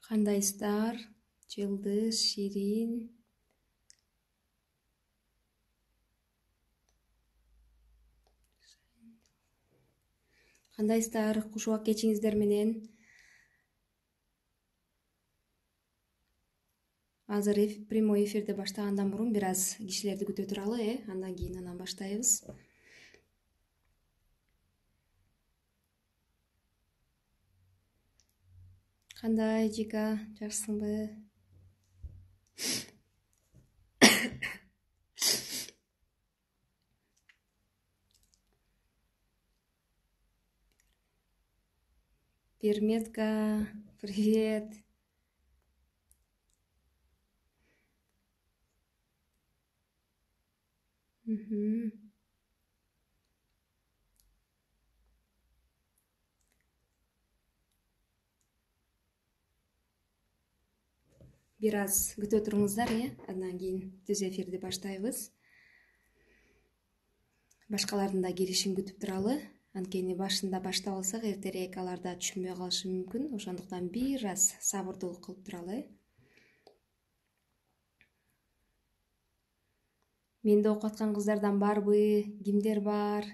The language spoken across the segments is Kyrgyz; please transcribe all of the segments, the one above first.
Кандайсыздар? Жылдыз, Ширин. Кандайсыздар? Куш убак кечиңиздер менен. Азыр прямой эфирди баштагандан мурун бир аз кишилерди күтө туралы, андан кийин баштайбыз. Кандай, Жика, жакшысыңбы? Перметка, привет. Бир аз күтө туруңуздар, андан кийин түз эфирди баштайбыз. Башкалардын да киришин күтүп туралы. Анткени башында баштап алсак, эртерээк алар да түшүнбөй калышы мүмкүн. Ошондуктан бир аз сабырдуулук кылып туралы. Менде окуп аткан кыздардан барбы? Кимдер бар?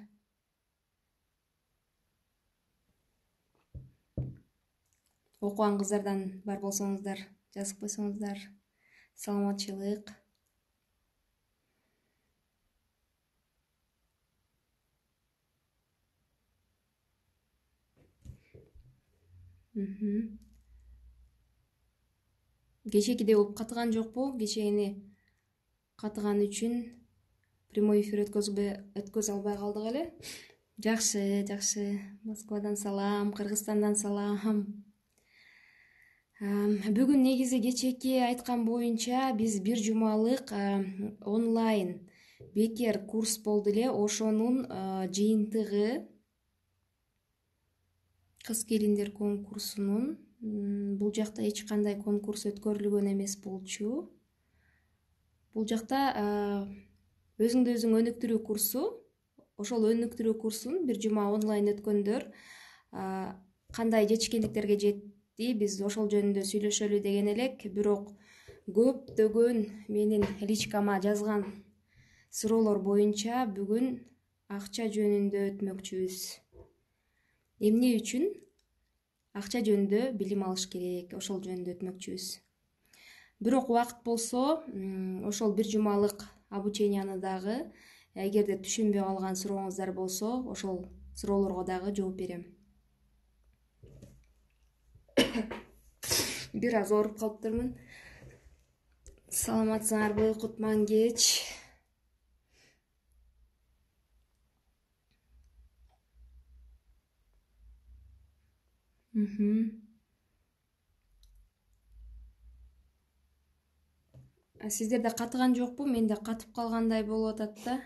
Окуган кыздардан бар болсоңуздар, жазып койсоңуздар. Саламатчылык. Кечекиде болуп катыган жокпу? Кечээни катыган үчүн прямой эфир өткөзө албай калдык эле. Жакшы. Москвадан салам, Кыргызстандан салам. Бүгүн негизи кечеки айткан боюнча биз бир жумалык онлайн бекер курс болду эле. Ошонун жыйынтыгы кыз келиндер конкурсунун. Бул жакта эч кандай конкурс өткөрүлгөн эмес болчу. Бул жакта өзүңдү өзүң өнүктүрүү курсу. Ошол өнүктүрүү курсун бир жума онлайн өткөндөр кандай жетишкендиктерге жетти, биз ошол жөнүндө сүйлөшөлү деген элек. Бирок көптөгөн менин личкама жазган суроолор боюнча бүгүн акча жөнүндө өтмөкчүбүз. Эмне үчүн акча жөнүндө билим алыш керек, ошол жөнүндө өтмөкчүбүз. Бирок убакыт болсо, ошол бир жумалык обученияны дагы эгерде түшүнбөй калган сурооңуздар болсо, ошол суроолорго дагы жооп берем. Бир аз ооруп калыптырмын. Саламатсыңарбы? Кутман кеч. Сиздерде катыган жокпу? Менде катып калгандай болуп атат да.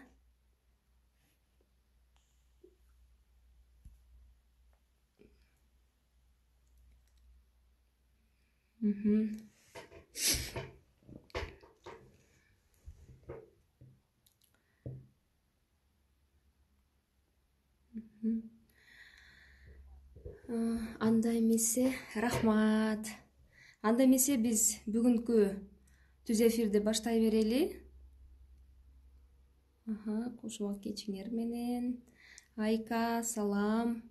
Анда эмесе, рахмат. Анда эмесе биз бүгүнкү түз эфирди баштай берели. Куш убак кечиңер менен. Айка, салам.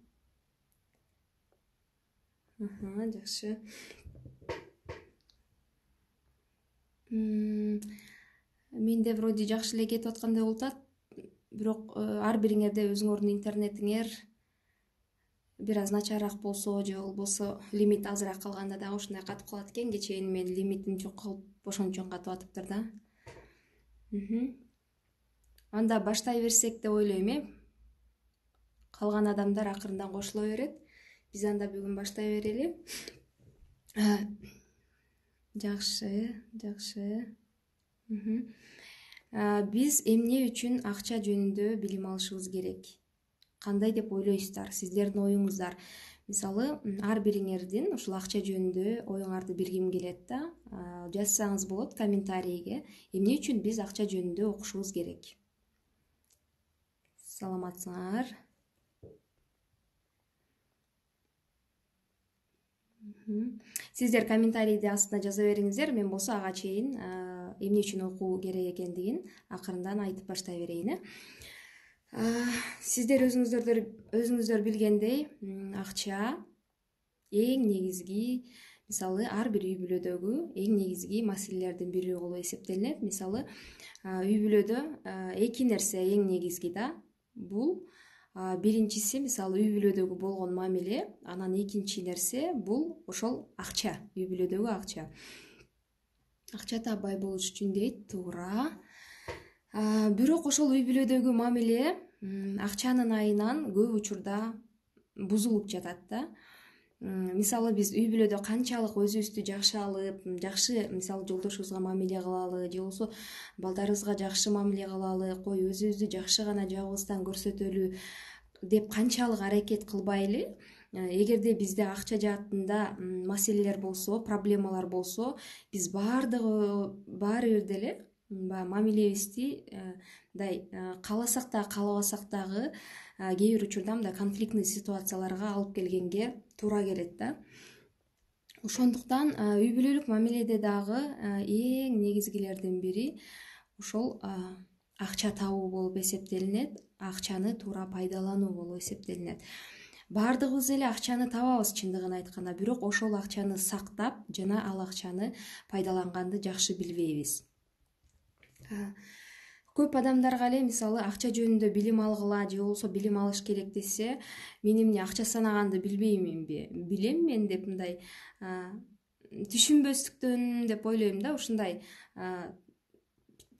Жакшы. Менде вроде жакшы эле кетип аткандай болуп атат. Бирок ар бириңерде өзүңөрдүн интернетиңер бир аз начарыраак болсо, же болбосо лимит азыраак калганда дагы ушундай катып калат экен. Кечээни мен лимитим жок калып, ошон катып атыптыр да. Анда баштай берсек деп ойлойм, Калган адамдар акырындан кошуло берет. Биз анда бүгүн баштай берели. Жакшы. Биз эмне үчүн акча жөнүндө билим алышыбыз керек? Кандай деп ойлойсуздар? Сиздердин оюңуздар. Мисалы, ар бириңердин ушул акча жөнүндө оюңарды бергим келет да. Жазсаңыз болот комментарийге. Эмне үчүн биз акча жөнүндө окушубуз керек? Саламатсыңар? Сиздер комментарийди астына жаза бериңиздер. Мен болсо ага чейин эмне үчүн окуу керек экендигин акырындан айтып баштай берейин. Сиздер өзүңүздөр билгендей, акча эң негизги, мисалы, ар бир үй бүлөдөгү эң негизги маселелердин бири болуп эсептелинет. Мисалы, үй бүлөдө эки нерсе эң негизги да. Бул биринчиси, мисалы, үй бүлөдөгү болгон мамиле, анан экинчи нерсе бул ошол акча, үй бүлөдөгү акча. Акча таппай болуш үчүн дейт, туура. Бирок ошол үй бүлөдөгү мамиле акчанын айынан көп учурда бузулуп жатат да. Мисалы, биз үй бүлөдө канчалык өзүбүздү жакшы алып, жакшы, мисалы, жолдошубузга мамиле кылалы, же болбосо балдарыбызга жакшы мамиле кылалы, кой өзүбүздү жакшы гана жагыбыздан көрсөтөлү деп канчалык аракет кылбайлы, эгерде бизде акча жаатында маселелер болсо, проблемалар болсо, биз баары бир деле мамилебизди мындай кааласак дагы, каалабасак дагы кээ бир учурда мындай конфликтный ситуацияларга алып келгенге туура келет да. Ошондуктан үй бүлөлүк мамиледе дагы эң негизгилердин бири ошол акча табуу болуп эсептелинет, акчаны туура пайдалануу болуп эсептелинет. Баардыгыбыз эле акчаны табабыз чындыгын айтканда, бирок ошол акчаны сактап жана ал акчаны пайдаланганды жакшы билбейбиз. Көп адамдарга эле, мисалы, акча жөнүндө билим алгыла же болбосо билим алыш керек десе, мен эмне акча санаганды билбейминби, билем мен деп мындай түшүнбөстүктөн деп ойлойм да, ушундай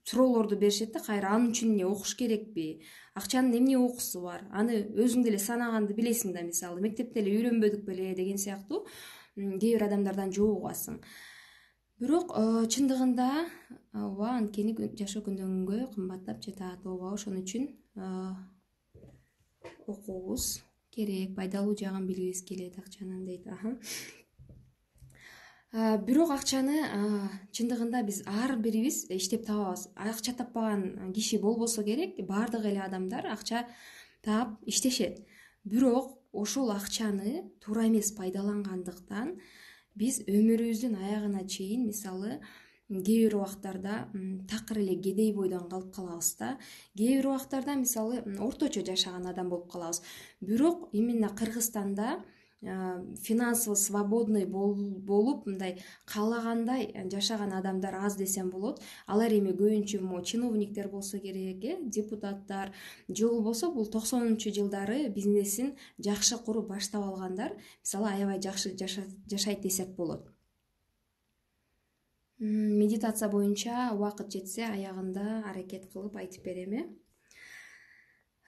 суроолорду беришет да, кайра анын үчүн эмне окуш керекпи, акчанын эмне окуусу бар, аны өзүң деле санаганды билесиң да, мисалы, мектепте эле үйрөнбөдүк беле деген сыяктуу кээ бир адамдардан жооп угасың. Бирок чындыгында ооба, анткени жашоо күндөн күнгө кымбаттап жатат, ооба, ошон үчүн окуубуз керек, пайдалуу жагын билгибиз келет акчанын дейт. Бирок акчаны чындыгында биз ар бирибиз иштеп табабыз. Акча таппаган киши болбосо керек, баардык эле адамдар акча таап иштешет. Бирок ошол акчаны туура эмес пайдалангандыктан биз өмүрүбүздүн аягына чейин, мисалы, кээ бир убактарда такыр эле кедей бойдон калып калабыз да. Кээ бир убактарда, мисалы, орточо жашаган адам болуп калабыз. Бирок именно Кыргызстанда финансово свободный болуп, мындай каалагандай жашаган адамдар аз десем болот. Алар эми көбүнчө могу чиновниктер болсо керек, депутаттар, же болбосо бул 90-жылдары бизнесин жакшы куруп баштап алгандар, мисалы, аябай жакшы жашайт десек болот. Медитация боюнча убакыт жетсе аягында аракет кылып айтып берем.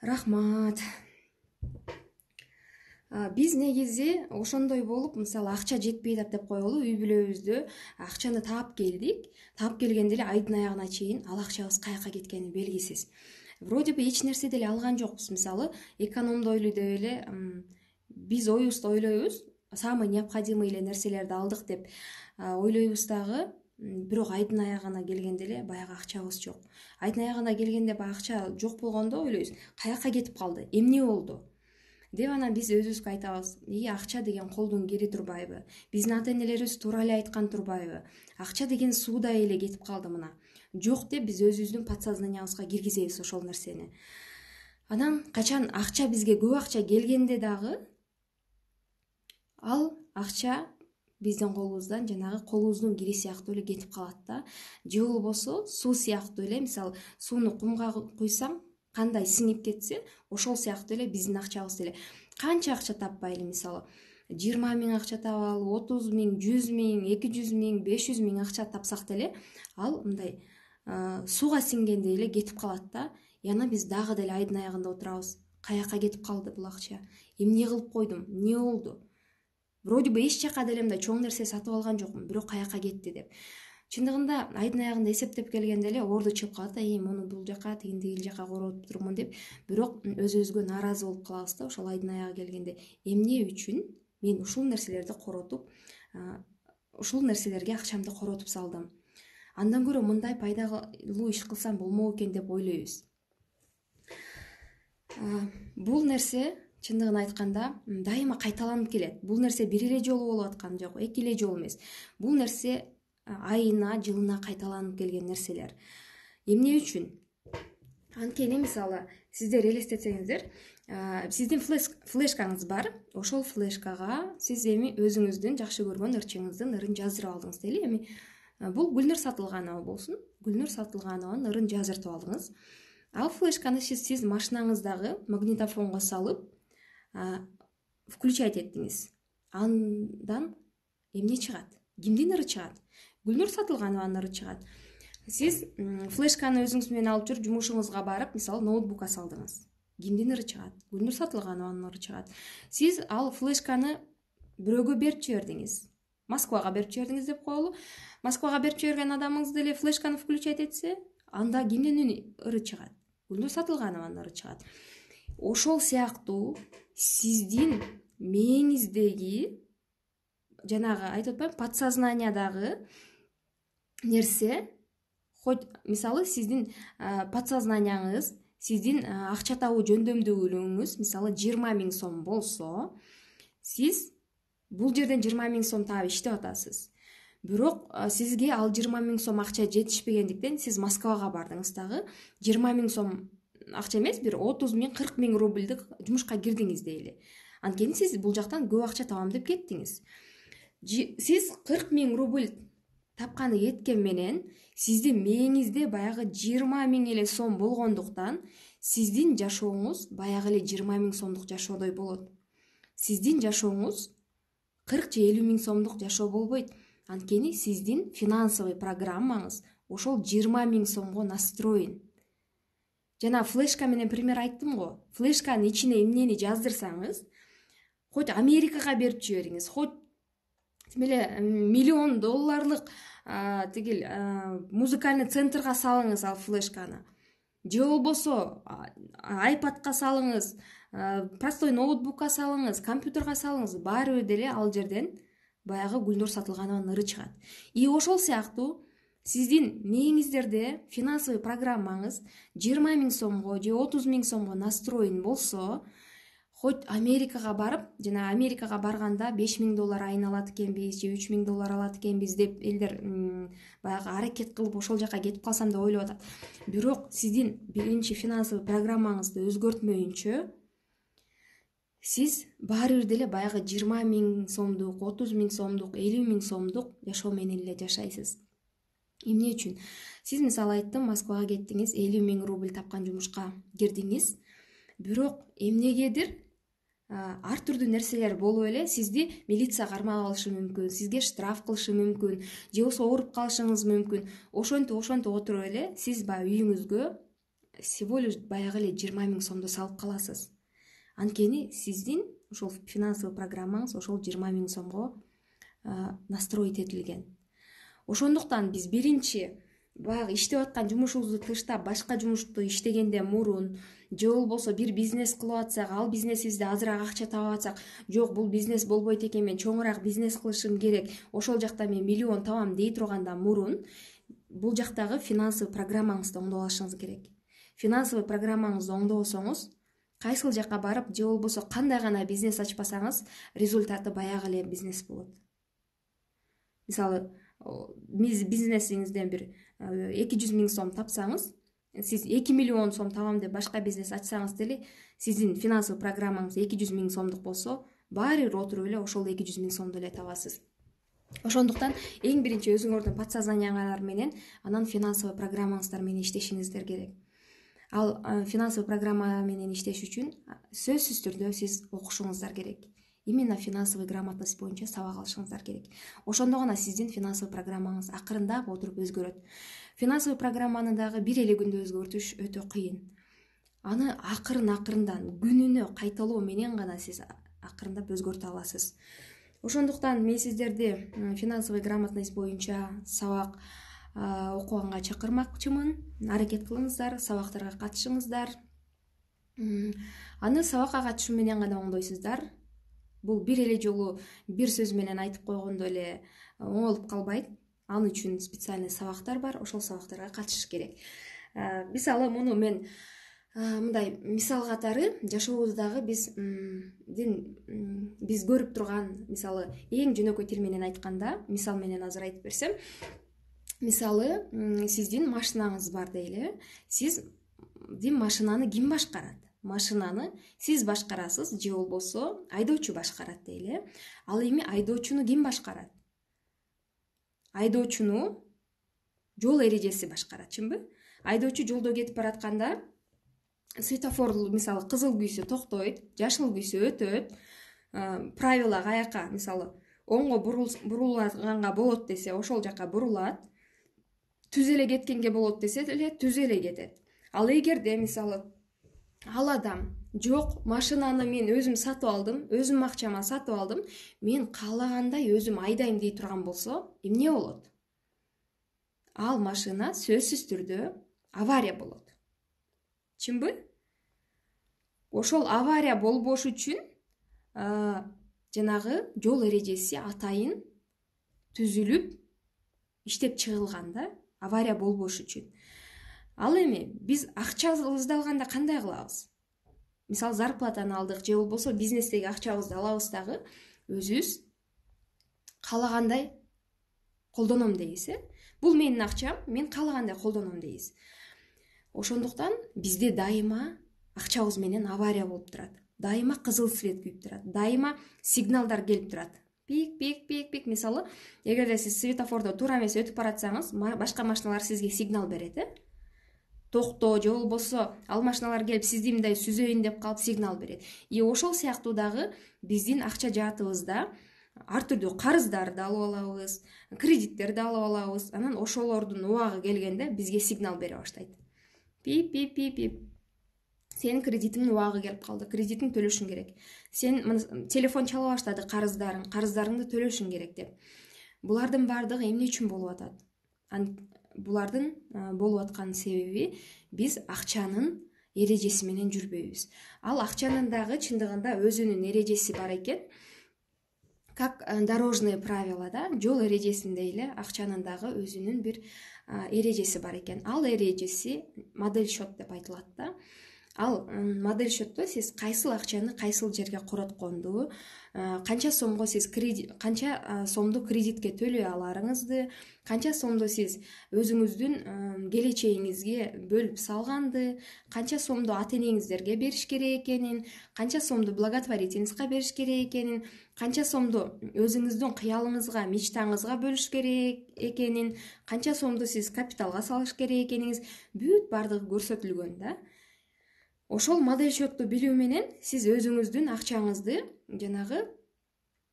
Рахмат. Биз негизи ошондой болуп, мисалы, акча жетпей деп коелу, үй бүлөбүздө акчаны таап келдик. Таап келгенде эле айдын аягына чейин ал акчабыз каяка кеткени белгисиз. Вроде бы эч нерсе деле алган жокпуз, мисалы, экономдойлу деп эле биз оюбузда ойлойбуз, самый необходимый эле нерселерди алдык деп ойлойбуз дагы, бирок айдын аягына келгенде эле баягы акчабыз жок. Айдын аягына келгенде баягы акча жок болгондо ойлойбуз, каяка кетип калды, эмне болду деп анан биз өзүбүзгө айтабыз, акча деген колдун кири турбайбы? Биздин ата-энелерибиз туура эле айткан турбайбы? Акча деген суудай эле кетип калды мына. Жок деп биз өзүбүздүн подсознаниябызга киргизебиз ошол нерсени. Анан качан акча бизге көп акча келгенде дагы ал акча биздин колубуздан жанагы колубуздун кири сыяктуу эле кетип калат да. Же болбосо суу сыяктуу эле, мисалы, сууну кумга куйсаң, кандай сиңип кетсе, ошол сыяктуу эле биздин акчабыз деле. Канча акча таппайлы, мисалы, 20 000 акча табалы, 30 000, 100 000, 200 000, 500 000 акча тапсак деле, ал мындай сууга сиңгендей эле кетип калат да. Яна биз дагы деле айдын аягында отурабыз. Каяка кетип калды бул акча? Эмне кылып койдум? Эмне болду? Вроде бы эч жака деле мындай чоң нерсе сатып алган жокмун, бирок каяка кетти деп. Чындыгында айдын аягында эсептеп келгенде эле орду чыгып калат да, муну бул жака, тигил жака коротуп турмун деп, бирок өзүбүзгө нааразы болуп калабыз да ошол айдын аягы келгенде. Эмне үчүн мен ушул нерселерди коротуп, ушул нерселерге акчамды коротуп салдым? Андан көрө мындай пайдалуу иш кылсам болмок экен деп ойлойбуз. Бул нерсе чындыгын айтканда дайыма кайталанып келет. Бул нерсе бир эле жолу болуп аткан жок, эки эле жолу эмес. Бул нерсе айына, жылына кайталанып келген нерселер. Эмне үчүн? Анткени мисалы сиздер элестетсеңиздер, сиздин флешкаңыз бар. Ошол флешкага сиз эми өзүңүздүн жакшы көргөн ырчыңыздын ырын жаздырып алдыңыз дейли. Эми бул Гүлнур Сатылганова болсун. Гүлнур Сатылганованын ырын жаздыртып алдыңыз. Ал флешканы сиз машинаңыздагы магнитофонго салып, включать эттиңиз. Андан эмне чыгат? Кимдин ыры чыгат? Гүлнур Сатылганованын ыры чыгат. Сиз флешканы өзүңүз менен алып жүрүп жумушуңузга барып, мисалы ноутбукка салдыңыз. Кимдин ыры чыгат? Гүлнур Сатылганованын ыры чыгат. Сиз ал флешканы бирөөгө берип жибердиңиз. Москвага берип жибердиңиз деп коелу. Москвага берип жиберген адамыңыз деле флешканы включать этсе, анда кимдин ыры чыгат? Гүлнур Сатылганованын ыры чыгат. Ошол сыяктуу сиздин мээңиздеги жанагы айтып атпайм, подсознаниядағы нерсе, хоть мисалы сиздин подсознанияңыз, сиздин акча табуу жөндөмдүүлүгүңүз мисалы 20 000 сом болсо, сиз бул жерден 20 000 сом таап иштеп атасыз. Бирок сизге ал 20 000 сом акча жетишпегендиктен сиз Москвага бардыңыз дагы 20 000 сом акча эмес, бир 30 000, 40 000 рубльдик жумушка кирдиңиз дейли. Анткени сиз бул жактан көп акча табам деп кеттиңиз. Сиз 40 000 рубль тапканы кеткен менен сиздин мээңизде баягы 20 000 эле сом болгондуктан сиздин жашооңуз баягы эле 20 000 сомдук жашоодой болот. Сиздин жашооңуз 40 же 50 000 сомдук жашоо болбойт. Анткени сиздин финансовый программаңыз ошол 20 000 сомго настроен. Жана флешка менен пример айттым го. Флешканын ичине эмнени жаздырсаңыз, хоть Америкага берип жибериңиз, хоть эле $1 000 тигил музыкальный центрга салыңыз ал флешканы. Же болбосо iPadка салыңыз, простой ноутбукка салыңыз, компьютерге салыңыз, баары бир деле ал жерден баягы Гүлнур Сатылганованын ыры чыгат. И ошол сыяктуу сиздин мээңиздерде финансовый программаңыз 20 000 сомго же 30 000 сомго настроен болсо, хоть Америкага барып, жана Америкага барганда $5 000 айына алат экенбиз, же $3 000 алат экенбиз деп элдер баягы аракет кылып ошол жака кетип калсам деп ойлоп атат. Бирок сиздин биринчи финансовый программаңызды өзгөртмөйүнчө сиз баары бир деле баягы 20 000 сомдук, 30 000 сомдук, 50 000 сомдук жашоо менен эле жашайсыз. Эмне үчүн? Сиз мисалы айттым, Москвага кеттиңиз, 50 000 рубль тапкан жумушка кирдиңиз. Бирок эмнегедир ар түрдүү нерселер болуп эле сизди милиция кармап алышы мүмкүн, сизге штраф кылышы мүмкүн, же болбосо ооруп калышыңыз мүмкүн. Ошентип отуруп эле сиз баягы үйүңүзгө всего лишь баягы эле 20 000 сомду салып каласыз. Анткени сиздин ошол финансовый программаңыз ошол 20 000 сомго настроить этилген. Ошондуктан биз биринчи баягы иштеп аткан жумушубузду тыштап башка жумушту иштегенден мурун, же болбосо бир бизнес кылып атсак, ал бизнесибизде азыраак акча таап атсак, жок бул бизнес болбойт экен, мен чоңураак бизнес кылышым керек, ошол жакта мен миллион табам дей тургандан мурун бул жактагы финансовый программаңызды оңдоп алышыңыз керек. Финансовый программаңызды оңдобосоңуз, кайсыл жака барып, же болбосо кандай гана бизнес ачпасаңыз, результаты баягы эле бизнес болот. Мисалы, бизнесиңизден бир 200 000 сом тапсаңыз, сиз 2 миллион сом табам деп башка бизнес ачсаңыз деле, сиздин финансовый программаңыз 200 000 сомдук болсо, баары бир отуруп эле ошол 200 000 сомду эле табасыз. Ошондуктан эң биринчи өзүңөрдүн подсознанияңар менен, анан финансовый программаңыздар менен иштешиңиздер керек. Ал финансовый программа менен иштеш үчүн сөзсүз түрдө сиз окушуңуздар керек. Именно финансовый грамотность боюнча сабак алышыңыздар керек. Ошондо гана сиздин финансовый программаңыз акырындап отуруп өзгөрөт. Финансовый программаны дагы бир эле күндө өзгөртүш өтө кыйын. Аны акырындан күнүнө кайталоо менен гана сиз акырындап өзгөртө аласыз. Ошондуктан мен сиздерди финансовый грамотность боюнча сабак окуганга чакырмакчымын. Аракет кылыңыздар, сабактарга катышыңыздар. Аны сабакка катышуу менен гана оңдойсуздар. Бул бир эле жолу бир сөз менен айтып койгондо эле оңолуп калбайт. Аны үчүн специальный сабактар бар, ошол сабактарга катышыш керек. Мисалы, муну мен Мындай мисал катары жашообуздагы биз көрүп турган, мисалы эң жөнөкөй тил менен айтканда, мисал менен азыр айтып берсем, мисалы сиздин машинаңыз бар дейли. Сиздин машинаны ким башкарат? Машинаны сиз башкарасыз же болбосо айдоочу башкарат дейли. Ал эми айдоочуну ким башкарат? Айдоочуну жол эрежеси башкарат, чынбы? Айдоочу жолдо кетип баратканда светофор, мисалы кызыл күйсө токтойт, жашыл күйсө өтөт, правила каяка, мисалы оңго бурулганга болот десе ошол жака бурулат, түз эле кеткенге болот десе эле түз эле кетет. Ал эгерде мисалы ал адам жок, машинаны мен өзүм сатып алдым, өзүм акчама сатып алдым, мен каалагандай өзүм айдайм дей турган болсо, эмне болот? Ал машина сөзсүз түрдө авария болот. Чынбы? Ошол авария болбош үчүн жанагы жол эрежеси атайын түзүлүп иштеп чыгылган да, авария болбош үчүн. Ал эми биз акчабызды алганда кандай кылабыз? Мисалы зарплатаны алдык же болбосо бизнестеги акчабызды алабыз дагы өзүбүз каалагандай колдоном дейбиз. Бул менин акчам, мен каалагандай колдоном дейбиз. Ошондуктан бизде дайыма акчабыз менен авария болуп турат. Дайыма кызыл свет күйүп турат. Дайыма сигналдар келип турат. Пик, пик, пик, пик. Мисалы, эгерде сиз светофордо туура эмес өтүп баратсаңыз, башка машиналар сизге сигнал берет, токто же болбосо ал машиналар келип сизди мындай сүзөйүн деп калып сигнал берет. И ошол сыяктуу дагы биздин акча жаатыбызда ар түрдүү карыздарды алып алабыз, кредиттерди алып алабыз. Анан ошолордун убагы келгенде бизге сигнал бере баштайт. Пип, пип, пип, пип. Сенин кредитиңдин убагы келип калды, кредитиңди төлөшүң керек. Сен телефон чала баштады, карыздарыңды төлөшүң керек деп. Булардын баардыгы эмне үчүн болуп атат? Булардын болуп аткан себеби биз акчанын эрежеси менен жүрбөйбүз. Ал акчанын дагы чындыгында өзүнүн эрежеси бар экен. Как дорожные правила, да, жол эрежесинде эле акчанын дагы өзүнүн бир эрежеси бар экен. Ал эрежеси модель счет деп айтылат да. Ал модель счетто сиз кайсыл акчаны кайсыл жерге коротконду, канча сомго сиз канча сомду кредитке төлөй аларыңызды, канча сомду сиз өзүңүздүн келечегиңизге бөлүп салганды, канча сомду ата-энеңиздерге бериш керек экенин, канча сомду благотворительностька бериш керек экенин, канча сомду өзүңүздүн кыялыңызга, мечтаңызга бөлүш керек экенин, канча сомду сиз капиталга салыш керек экениңиз бүт баардыгы көрсөтүлгөн да. Ошол модель счетту билүү менен сиз өзүңүздүн акчаңызды жанагы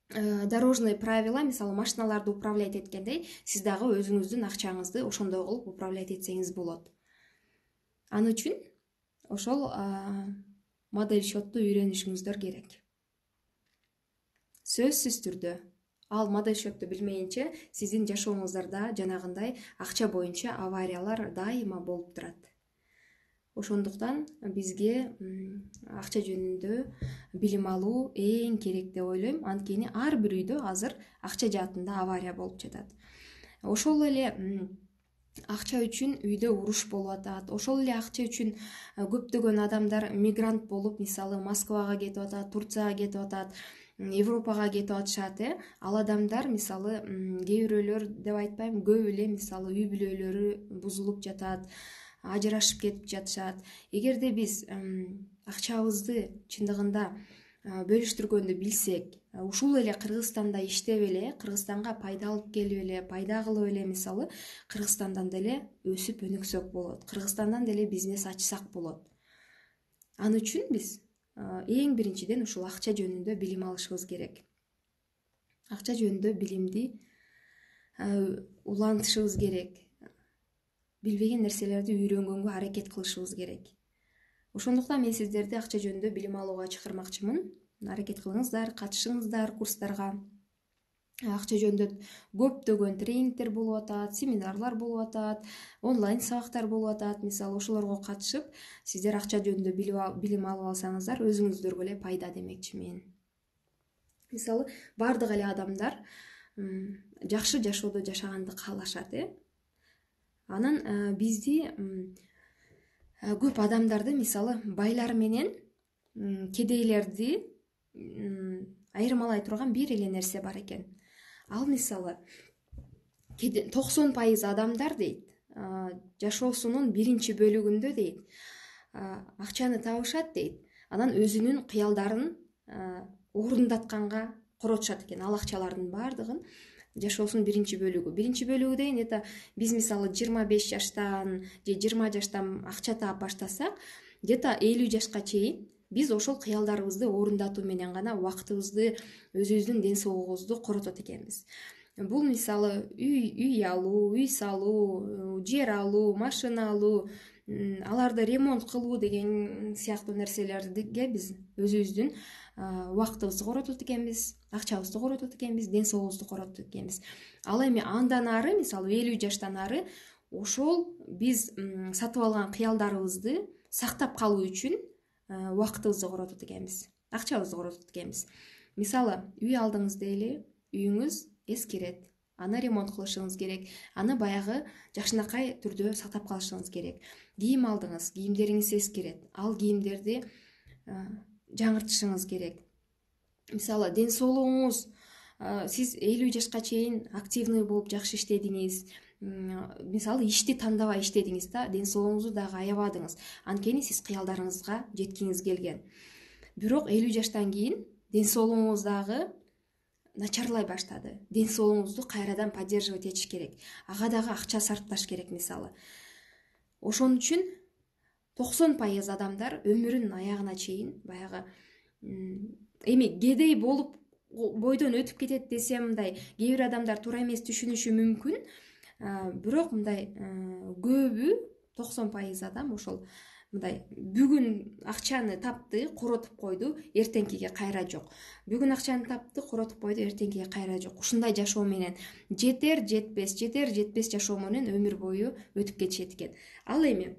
дорожный правила, мисалы машиналарды управлять эткендей, сиз дагы өзүңүздүн акчаңызды ошондой кылып управлять этсеңиз болот. Ал үчүн ошол модель счетту үйрөнүшүңүздөр керек. Сөзсүз түрдө ал модель счетту билмейинче сиздин жашооңуздарда жанагындай акча боюнча авариялар дайыма болуп турат. Ошондуктан бизге акча жөнүндө билим алуу эң керек деп ойлойм. Анткени ар бир үйдө азыр акча жаатында авария болуп жатат. Ошол эле акча үчүн үйдө уруш болуп атат. Ошол эле акча үчүн көптөгөн адамдар мигрант болуп, мисалы Москвага кетип атат, Турцияга кетип атат, Европага кетип атышат. Ал адамдар мисалы кээ бирөөлөр деп айтпайм, көп эле мисалы үй бүлөлөрү бузулуп жатат, ажырашып кетип жатышат. Эгерде биз акчабызды чындыгында бөлүштүргөндү билсек, ушул эле Кыргызстанда иштеп эле, Кыргызстанга пайда алып келип эле, пайда кылып эле мисалы Кыргызстандан деле өсүп өнүксөк болот. Кыргызстандан деле бизнес ачсак болот. Ал үчүн биз эң биринчиден ушул акча жөнүндө билим алышыбыз керек. Акча жөнүндө билимди улантышыбыз керек. Билбеген нерселерди үйрөнгөнгө аракет кылышыбыз керек. Ошондуктан мен сиздерди акча жөнүндө билим алууга чакырмакчымын. Аракет кылыңыздар, катышыңыздар курстарга. Акча жөнүндө көптөгөн тренингдер болуп атат, семинарлар болуп атат, онлайн сабактар болуп атат. Мисалы ошолорго катышып, сиздер акча жөнүндө билим алып алсаңыздар, өзүңүздөргө эле пайда демекчимин. Мисалы баардык эле адамдар жакшы жашоодо жашаганды каалашат. Анан бизди көп адамдарды, мисалы байлар менен кедейлерди айырмалай турган бир эле нерсе бар экен. Ал мисалы 90% адамдар дейт, жашоосунун биринчи бөлүгүндө дейт, акчаны табышат дейт, анан өзүнүн кыялдарын орундатканга коротушат экен. Ал акчалардын баардыгын жашоосунун биринчи бөлүгү дейин, это биз мисалы 25 жаштан же 20 жаштан акча таап баштасак, где-то 50 жашка чейин биз ошол кыялдарыбызды орундатуу менен гана убактыбызды, өзүбүздүн ден соолугубузду коротот экенбиз. Бул мисалы үй алуу, үй салуу, жер алуу, машина алуу, аларды ремонт кылуу деген сыяктуу нерселерге биз өзүбүздүн убактыбызды коротот экенбиз, акчабызды коротот экенбиз, ден соолугубузду коротот экенбиз. Ал эми андан ары, мисалы 50 жаштан ары ошол биз сатып алган кыялдарыбызды сактап калуу үчүн убактыбызды коротот экенбиз, акчабызды коротот экенбиз. Мисалы үй алдыңыз дейли, үйүңүз эскирет, аны ремонт кылышыңыз керек, аны баягы жакшынакай түрдө сактап калышыңыз керек. Кийим алдыңыз, кийимдериңиз эскирет, ал кийимдерди жаңыртышыңыз керек. Мисалы ден соолугуңуз, сиз 50 жашка чейин активный болуп жакшы иштедиңиз, мисалы ишти тандабай иштедиңиз да, ден соолугуңузду дагы аябадыңыз, анткени сиз кыялдарыңызга жеткиңиз келген. Бирок 50 жаштан кийин ден соолугуңуз дагы начарлай баштады. Ден соолугуңузду кайрадан поддерживать этиш керек. Ага дагы акча сарпташ керек мисалы. Ошон үчүн 90% адамдар өмүрүнүн аягына чейин баягы эми кедей болуп бойдон өтүп кетет десем, мындай кээ бир адамдар туура эмес түшүнүшү мүмкүн. Бирок мындай көбү 90% адам ошол мындай бүгүн акчаны тапты, коротуп койду, эртеңкиге кайра жок. Бүгүн акчаны тапты, коротуп койду, эртеңкиге кайра жок. Ушундай жашоо менен жетер жетпес жашоо менен өмүр бою өтүп кетишет экен. Ал эми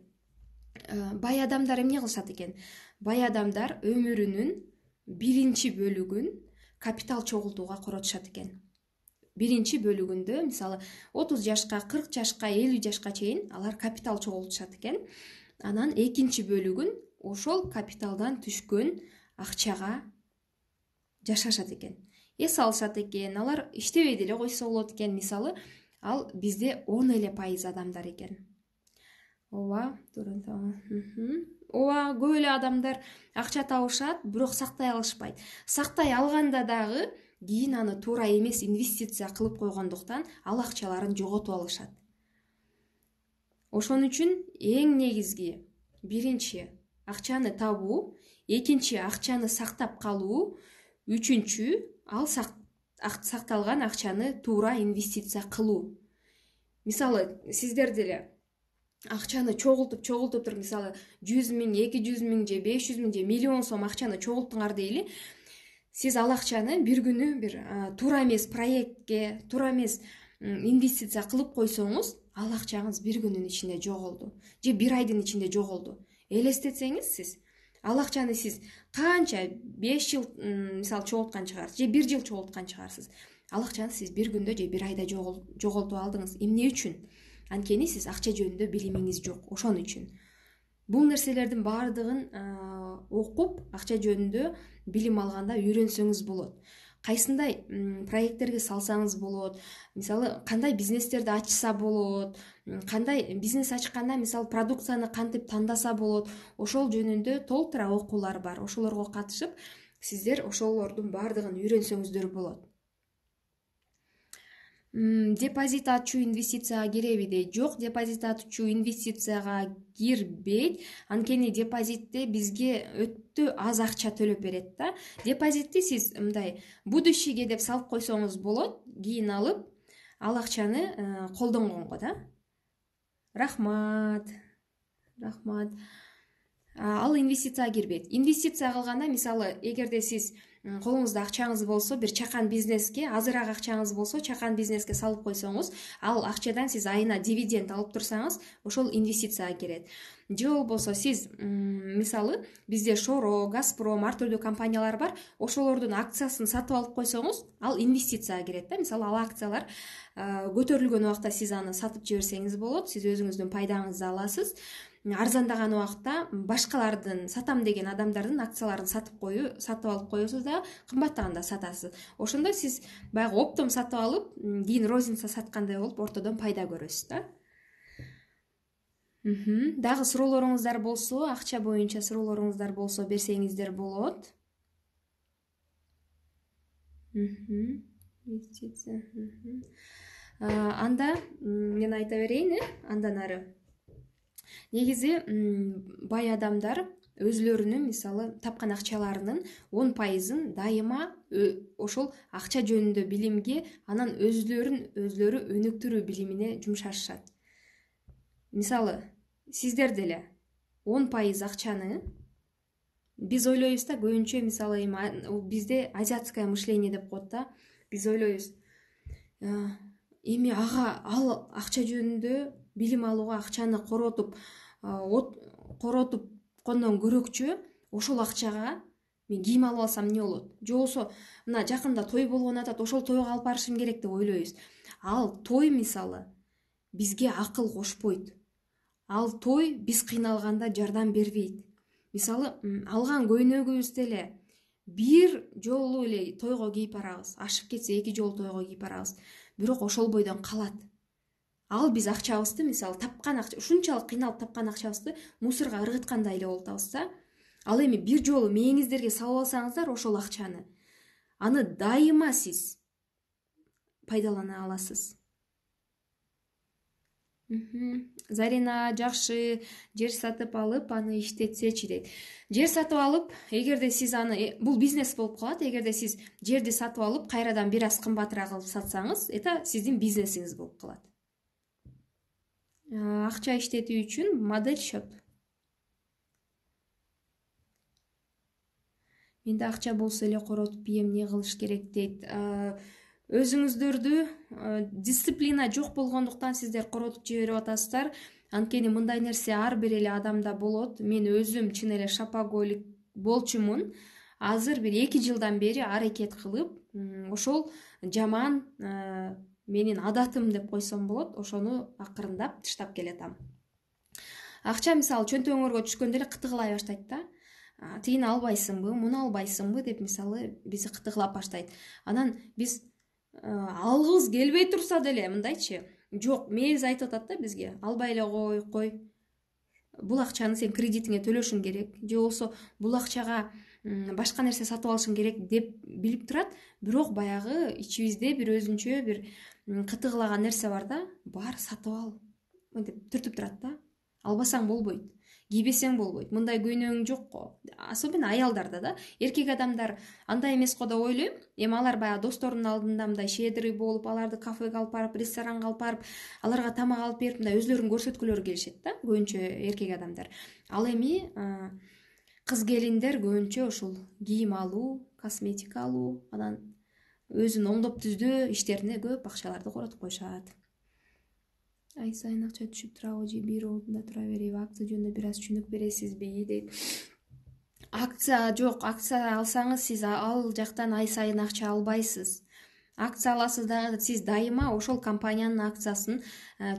бай адамдар эмне кылышат экен? Бай адамдар өмүрүнүн биринчи бөлүгүн капитал чогултууга коротушат экен. Биринчи бөлүгүндө, мисалы 30 жашка, 40 жашка, 50 жашка чейин алар капитал чогултушат экен. Анан экинчи бөлүгүн ошол капиталдан түшкөн акчага жашашат экен. Эс алышат экен, алар иштебей деле койсо болот экен. Мисалы, ал бизде 10 эле пайыз адамдар экен. Ооба, көп эле адамдар акча табышат, бирок сактай алышпайт. Сактай алганда дагы кийин аны туура эмес инвестиция кылып койгондуктан ал акчаларын жоготуп алышат. Ошон үчүн эң негизги биринчи акчаны табуу, экинчи акчаны сактап калуу, үчүнчү ал сакталган акчаны туура инвестиция кылуу. Мисалы, сиздер деле акчаны чогултуп туруп, мисалы 100 000, 200 000 же 500 000 же миллион сом акчаны чогулттуңар дейли. Сиз ал акчаны бир күнү бир туура эмес проектке, туура эмес инвестиция кылып койсоңуз, ал акчаңыз бир күнүн ичинде жоголду же бир айдын ичинде жоголду. Элестетсеңиз, сиз ал акчаны сиз канча 5 жыл мисалы чогулткан чыгарсыз же 1 жыл чогулткан чыгарсыз. Ал акчаны сиз бир күндө же бир айда жоготуп алдыңыз. Эмне үчүн? Анткени сиз акча жөнүндө билимиңиз жок. Ошон үчүн бул нерселердин баардыгын окуп, акча жөнүндө билим алганда үйрөнсөңүз болот. Кайсындай проекттерге салсаңыз болот, мисалы кандай бизнестерди ачса болот, кандай бизнес ачканда мисалы продукцияны кантип тандаса болот, ошол жөнүндө толтура окуулар бар. Ошолорго катышып, сиздер ошолордун баардыгын үйрөнсөңүздөр болот. Депозит ачуу инвестицияга киреби дейт. Жок, депозит ачуу инвестицияга кирбейт. Анткени депозитте бизге өтө аз акча төлөп берет да. Депозитти сиз мындай будущийге деп салып койсоңуз болот, кийин алып ал акчаны колдонгонго да. Рахмат. Ал инвестицияга кирбейт. Инвестиция кылганда, мисалы, эгерде сиз колуңузда акчаңыз болсо, бир чакан бизнеске, азыраак акчаңыз болсо, чакан бизнеске салып койсоңуз, ал акчадан сиз айына дивиденд алып турсаңыз, ошол инвестицияга кирет. Же болбосо сиз, мисалы, бизде Шоро, Газпром, ар түрдүү компаниялар бар, ошолордун акциясын сатып алып койсоңуз, ал инвестицияга кирет да. Мисалы, ал акциялар көтөрүлгөн убакта сиз аны сатып жиберсеңиз болот, сиз өзүңүздүн пайдаңызды аласыз. арзандаган убакта башкалардын сатам деген адамдардын акцияларын сатып алып коесуз да кымбаттаганда сатасыз. Ошондо сиз баягы оптом сатып алып, кийин розница саткандай болуп ортодон пайда көрөсүз да. Дагы суроолоруңуздар болсо, акча боюнча суроолоруңуздар болсо берсеңиздер болот. Инвестиция. Анда мен айта берейин, андан ары. Негизи бай адамдар өзүлөрүнүн мисалы тапкан акчаларынын 10% дайыма ошол акча жөнүндө билимге, анан өзүлөрү өнүктүрүү билимине жумшашат. Мисалы, сиздер деле 10% акчаны биз ойлойбуз да, көбүнчө мисалы бизде азиатское мышление деп коет да. Биз ойлойбуз, эми ал акча жөнүндө билим алууга акчаны коротуп кондон көрөкчү, ошол акчага мен кийим алып алсам эмне болот? Же болбосо мына жакында той болгон атат, ошол тойго алып барышым керек деп ойлойбуз. Ал той мисалы бизге акыл кошпойт. Ал той биз кыйналганда жардам бербейт. Мисалы, алган көйнөгүбүз деле бир жолу эле тойго кийип барабыз. Ашып кетсе 2 жолу тойго кийип барабыз. Бирок ошол бойдон калат. Ал биз акчабызды мисалы тапкан акча, ушунчалык кыйналып тапкан акчабызды мусорго ыргыткандай эле болуп атабыз да. Ал эми бир жолу мээңиздерге салып алсаңыздар ошол акчаны, аны дайыма сиз пайдалана аласыз. Зарина, жакшы, жер сатып алып, аны иштетсечи дейт. Жер сатып алып, эгерде сиз аны, бул бизнес болуп калат, эгерде сиз жерди сатып алып, кайрадан бир аз кымбатыраак кылып сатсаңыз, это сиздин бизнесиңиз болуп калат. Акча иштетүү үчүн модель счет. Менде акча болсо эле коротуп ийем, эмне кылыш керек дейт. Өзүңүздөрдү дисциплина жок болгондуктан сиздер коротуп жиберип атасыздар. Анткени мындай нерсе ар бир эле адамда болот. Мен өзүм чын эле шопоголик болчумун. Азыр бир 2 жылдан бери аракет кылып, ошол жаман менин адатым деп койсом болот. Ошону акырындап тыштап келатам. Акча мисалы чөнтөгүңөргө түшкөндө эле кытыгылай баштайт да. Тигини албайсыңбы, муну албайсыңбы деп мисалы бизди кытыгылап баштайт. Анан биз алгыбыз келбей турса деле мындайчы, жок, мээбиз айтып атат да бизге, албай эле кой. Бул акчаны сен кредитиңе төлөшүң керек, же болбосо бул акчага башка нерсе сатып алышың керек деп билип турат, бирок баягы ичибизде бир өзүнчө бир кытыгылаган нерсе бар да, бар сатып ал деп түртүп турат да. Албасаң болбойт, кийбесең болбойт, мындай көйнөгүң жокко. Особенно аялдарда да. Эркек адамдар андай эмес го деп ойлойм. Эми алар баягы досторунун алдында мындай щедрый болуп, аларды кафеге алып барып, ресторанга алып барып, аларга тамак алып берип, мындай өзүлөрүн көрсөткүлөрү келишет да, көбүнчө эркек адамдар. Ал эми кыз келиндер көбүнчө ушул кийим алуу, косметика алуу, анан өзүн оңдоп түздөө иштерине көп акчаларды коротуп коюшат. Ай сайын акча түшүп турабы же бир ордунда тура береби? Акция жөнүндө бир аз түшүнүк бересизби дейт. Акция жок, акция алсаңыз сиз ал жактан ай сайын акча албайсыз. Акция аласыз дагы сиз дайыма ошол компаниянын акциясын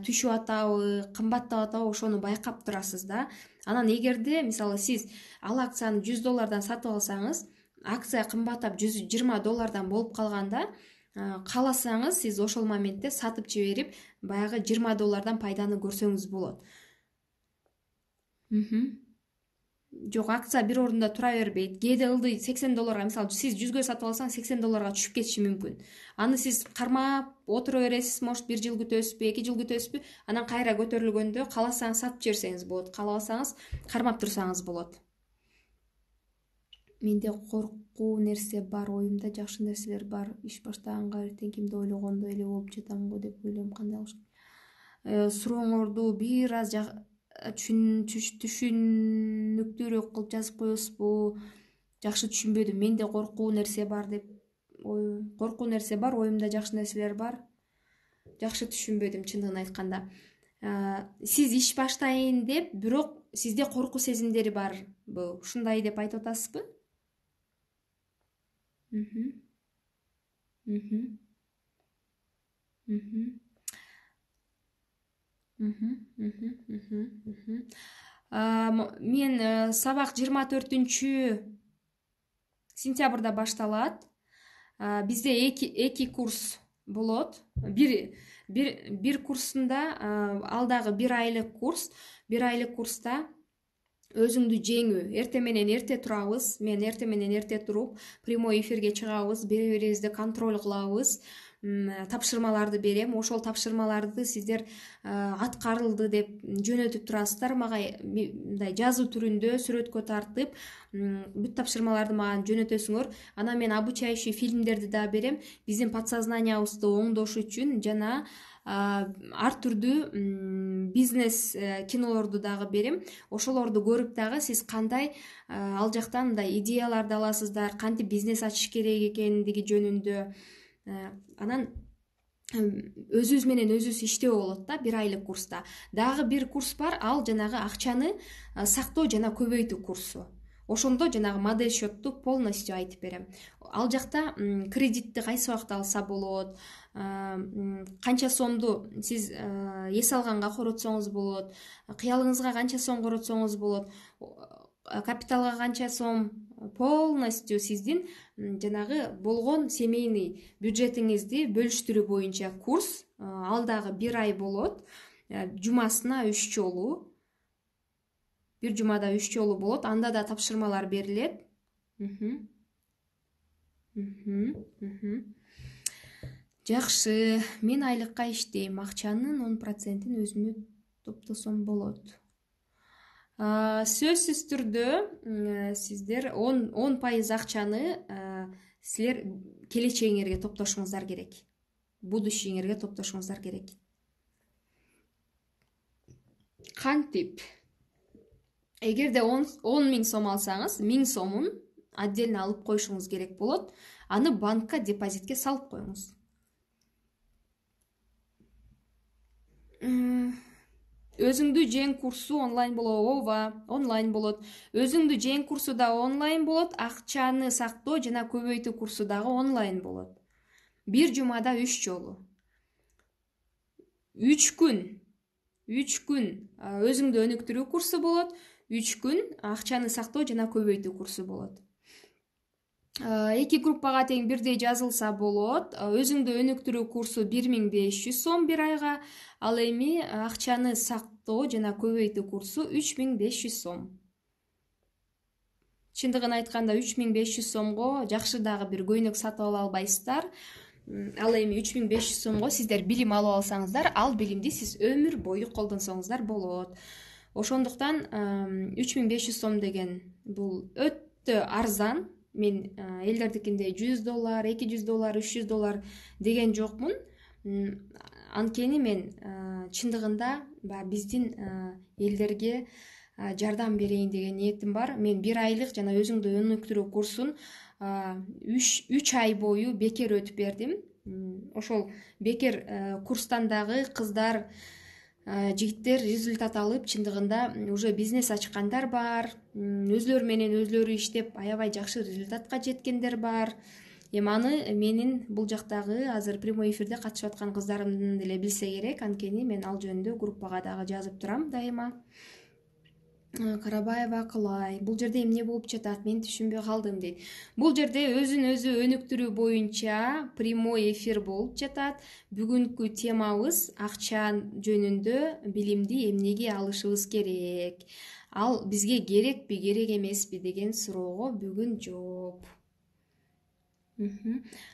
түшүп атабы, кымбаттап атабы ошону байкап турасыз да. Анан эгерде мисалы сиз ал акцияны $100 сатып алсаңыз, акция кымбаттап $120 болуп калганда, кааласаңыз сиз ошол моментте сатып жиберип, баягы $20 пайданы көрсөңүз болот. Жок, акция бир ордунда тура бербейт. Кээде ылдый $80, мисалы сиз 100гө сатып алсаңыз $80 түшүп кетиши мүмкүн. Аны сиз кармап отура бересиз, может 1 жыл күтөсүзбү, 2 жыл күтөсүзбү, анан кайра көтөрүлгөндө кааласаңыз сатып жиберсеңиз болот, каалабасаңыз кармап турсаңыз болот. Менде коркуу нерсе бар, оюмда жакшы нерселер бар. Иш баштаганга эртең кимди ойлогондой эле болуп жатам го деп ойлойм. Кандай кылыш керек? Сурооңорду бир аз түшүнүктүүрөөк кылып жазып коесузбу? Жакшы түшүнбөдүм. Менде коркуу нерсе бар деп коркуу нерсе бар, оюмда жакшы нерселер бар. Жакшы түшүнбөдүм чындыгын айтканда. Сиз иш баштайын деп, бирок сизде коркуу сезимдери барбы? Ушундай деп айтып атасызбы? Мен сабак 24-сентябрда башталат. Бизде эки курс болот. Бир курсунда ал дагы 1 айлык курс. 1 айлык курста өзүңдү жеңүү. Эртең менен эрте турабыз. Мен эртең менен эрте туруп, прямой эфирге чыгабыз, бири-бирибизди контроль кылабыз. Тапшырмаларды берем. Ошол тапшырмаларды сиздер аткарылды деп жөнөтүп турасыздар. Мага мындай жазуу түрүндө сүрөткө тартып, бүт тапшырмаларды мага жөнөтөсүңөр. Анан мен обучающий фильмдерди да берем. Биздин подсознаниябызды оңдош үчүн жана ар түрдүү бизнес кинолорду дагы берем. Ошолорду көрүп дагы сиз кандай ал жактан мындай идеяларды аласыздар, кантип бизнес ачыш керек экендиги жөнүндө. Анан өзүбүз менен өзүбүз иштөө болот да 1 айлык курста. Дагы бир курс бар, ал жанагы акчаны сактоо жана көбөйтүү курсу. Ошондо жанагы модель счетту полностью айтып берем. Ал жакта кредитти кайсы убакта алса болот, канча сомду сиз эс алганга коротсоңуз болот, кыялыңызга канча сом коротсоңуз болот, капиталга канча сом, полностью сиздин жанагы болгон семейный бюджетиңизди бөлүштүрүү боюнча курс. Ал дагы 1 ай болот. Жумасына 3 жолу. Бир жумада 3 жолу болот. Анда да тапшырмалар берилет. Жакшы. Мен айлыкка иштейм. Акчанын 10%-ин өзүмө топтосом болот. Сөзсүз түрдө сиздер 10% акчаны силер келечегиңерге топтошуңуздар керек. Будущийиңерге топтошуңуздар керек. Кантип? Эгерде 10 000 сом алсаңыз, 1000 сомун отдельно алып коюшуңуз керек болот. Аны банкка депозитке салып коюңуз. Өзүңдү жең курсу онлайн болот. Ооба, онлайн болот. Өзүңдү жең курсу да онлайн болот. Акчаны сактоо жана көбөйтүү курсу дагы онлайн болот. Бир жумада 3 жолу. 3 күн өзүңдү өнүктүрүү курсу болот. 3 күн акчаны сактоо жана көбөйтүү курсу болот. Эки группага тең бирдей жазылса болот. Өзүңдү өнүктүрүү курсу 1500 сом 1 айга, ал эми акчаны сактоо жана көбөйтүү курсу 3500 сом. Чындыгын айтканда 3500 сомго жакшы дагы бир көйнөк сатып ала албайсыздар. Ал эми 3500 сомго сиздер билим алып алсаңыздар, ал билимди сиз өмүр бою колдонсоңуздар болот. Ошондуктан 3500 сом деген бул өтө арзан. Мен элдердикиндей $100, $200, $300 деген жокмун. Анткени мен чындыгында биздин элдерге жардам берейин деген ниетим бар. Мен 1 айлык жана өзүңдү өнүктүрүү курсун 3 ай бою бекер өтүп бердим. Ошол бекер курстан дагы кыздар, жигиттер результат алып, чындыгында уже бизнес ачкандар бар. Өзлөрү менен өзлөрү иштеп, аябай жакшы результатка жеткендер бар. Аны менин бул жактагы азыр прямой эфирде катышып аткан кыздарым деле билсе керек. Анткени мен ал жөнүндө группага дагы жазып турам дайыма. Карабаева Акылай. Бул жерде эмне болуп жатат? Мен түшүнбөй калдым дейт. Бул жерде өзүн өзү өнүктүрүү боюнча прямой эфир болуп жатат. Бүгүнкү темабыз акча жөнүндө билимди эмнеге алышыбыз керек? Ал бизге керекпи, керек эмеспи деген суроого бүгүн жооп.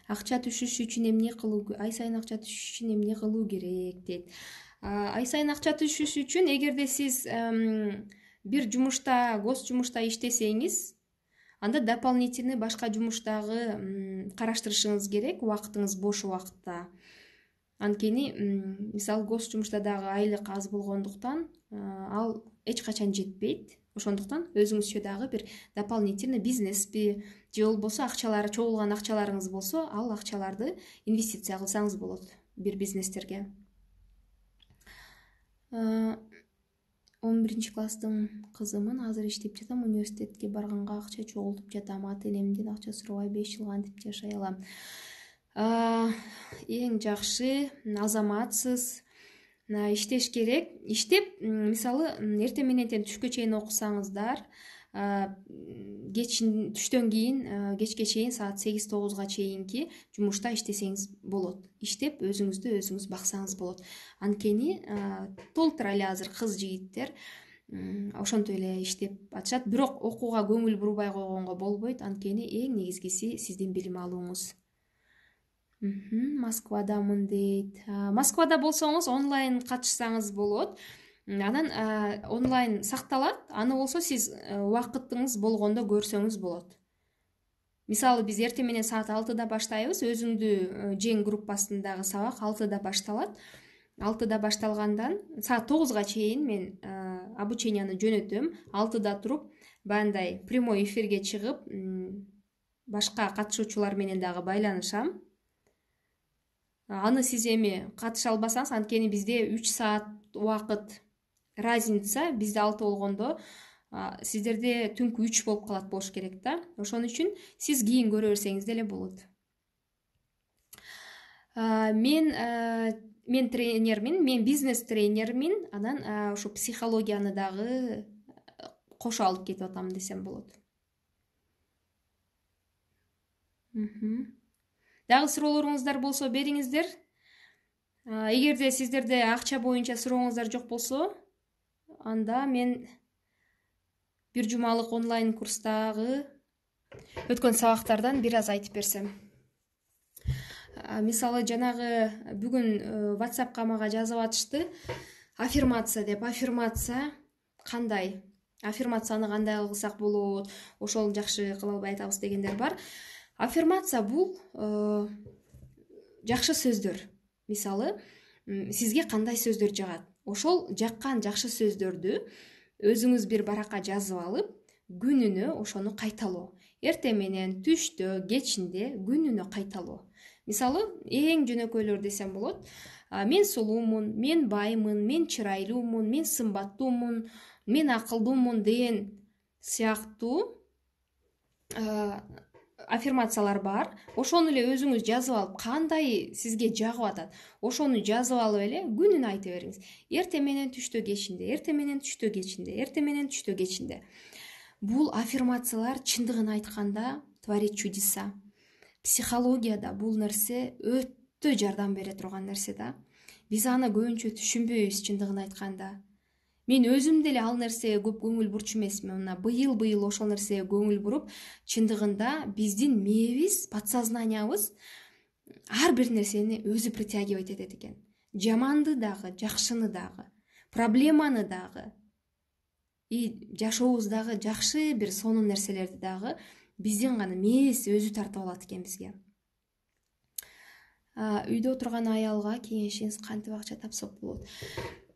Акча түшүш үчүн эмне кылуу, ай сайын акча түшүш үчүн эмне кылуу керек дейт. Ай сайын акча түшүш үчүн эгерде сиз бир жумушта, гос жумушта иштесеңиз, анда дополнительный башка жумуштагы караштырышыңыз керек убактыңыз бош убакытта. Анткени мисалы гос жумушта дагы айлык аз болгондуктан ал эч качан жетпейт. Ошондуктан өзүңүзчө дагы бир дополнительный бизнеспи же болбосо акчалары чогулган акчаларыңыз болсо, ал акчаларды инвестиция кылсаңыз болот бир бизнестерге. 11 класстын кызымын, азыр иштеп жатам, университетке барганга акча чогултуп жатам, ата-энемден акча сурабай 5 жыл кантип жашай алам? Эң жакшы азаматсыз. иштеш керек. Иштеп, мисалы, эртең менен түшкө чейин окусаңыздар, түштөн кийин кечке чейин саат 8-9 чейинки жумушта иштесеңиз болот. Иштеп өзүңүздү өзүңүз баксаңыз болот. Анткени толтура эле азыр кыз жигиттер ошентип эле иштеп атышат. Бирок окууга көңүл бурбай койгонго болбойт. Анткени эң негизгиси сиздин билим алууңуз. Москвадамын дейт. Москвада болсоңуз онлайн катышсаңыз болот. Анан онлайн сакталат. Аны болсо сиз убакытыңыз болгондо көрсөңүз болот. Мисалы, биз эртең менен саат 6-да баштайбыз. Өзүңдү жең группасындагы сабак 6-да башталат. 6-да башталгандан саат 9-га чейин мен обученияны жөнөтөм. 6-да туруп, бандай прямой эфирге чыгып, башка катышуучулар менен дагы байланышам. Аны сиз эми катыша албасаңыз, анткени бизде 3 саат убакыт разница. Бизде 6 болгондо сиздерде түнкү 3 болуп калат болуш керек да. Ошон үчүн сиз кийин көрө берсеңиз деле болот. Мен тренермин, мен бизнес тренермин. Анан ошо психологияны дагы кошо алып кетип атам десем болот. Дагы суроолоруңуздар болсо бериңиздер. Эгерде сиздерде акча боюнча сурооңуздар жок болсо, анда мен бир жумалык онлайн курстагы өткөн сабактардан бир аз айтып берсем. Мисалы, жанагы бүгүн WhatsAppка мага жазып атышты. Аффирмация деп. Аффирмация кандай? Аффирмацияны кандай кылсак болот? Ошол жакшы кыла албай атабыз дегендер бар. Аффирмация бул жакшы сөздөр. Мисалы, сизге кандай сөздөр жагат? Ошол жаккан жакшы сөздөрдү өзүңүз бир баракка жазып алып, күнүнө ошону кайталоо. Эртең менен, түштө, кечинде күнүнө кайталоо. Мисалы, эң жөнөкөйлөр десем болот. Мен сулуумун, мен баймын, мен чырайлуумун, мен сымбаттуумун, мен акылдуумун деген сыяктуу аффирмациялар бар. Ошону эле өзүңүз жазып алып, кандай сизге жагып атат, ошону жазып алып эле күнүнө айта бериңиз. Эртең менен, түштө, кечинде, эртең менен, түштө, кечинде, эртең менен, түштө, кечинде. Бул аффирмациялар чындыгын айтканда творит чудеса. Психологияда бул нерсе өтө жардам бере турган нерсе да. Биз аны көбүнчө түшүнбөйбүз чындыгын айтканда. Мен өзүм деле ал нерсеге көп көңүл бурчу эмесмин. Мына быйыл ошол нерсеге көңүл буруп, чындыгында биздин мээбиз, подсознаниябыз ар бир нерсени өзү притягивать этет экен. Жаманды дагы, жакшыны дагы, проблеманы дагы, жашообуздагы жакшы бир сонун нерселерди дагы биздин гана мээбиз өзү тартып алат экен бизге. Үйдө отурган аялга кеңешиңиз кантип акча тапсак болот?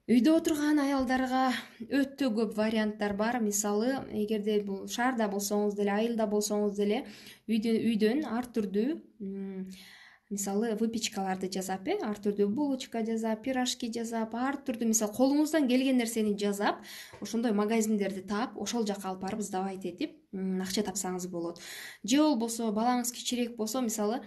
Үйдө отурган аялдарга өтө көп варианттар бар. Мисалы, эгерде бул шаарда болсоңуз деле, айылда болсоңуз деле, үйдөн ар түрдүү мисалы выпечкаларды жасап, ар түрдүү булочка жасап, пирожки жасап, ар түрдүү мисалы колуңуздан келген нерсени жасап, ошондой магазиндерди таап, ошол жака алып барып сдавать этип, акча тапсаңыз болот. Же болбосо балаңыз кичирээк болсо, мисалы,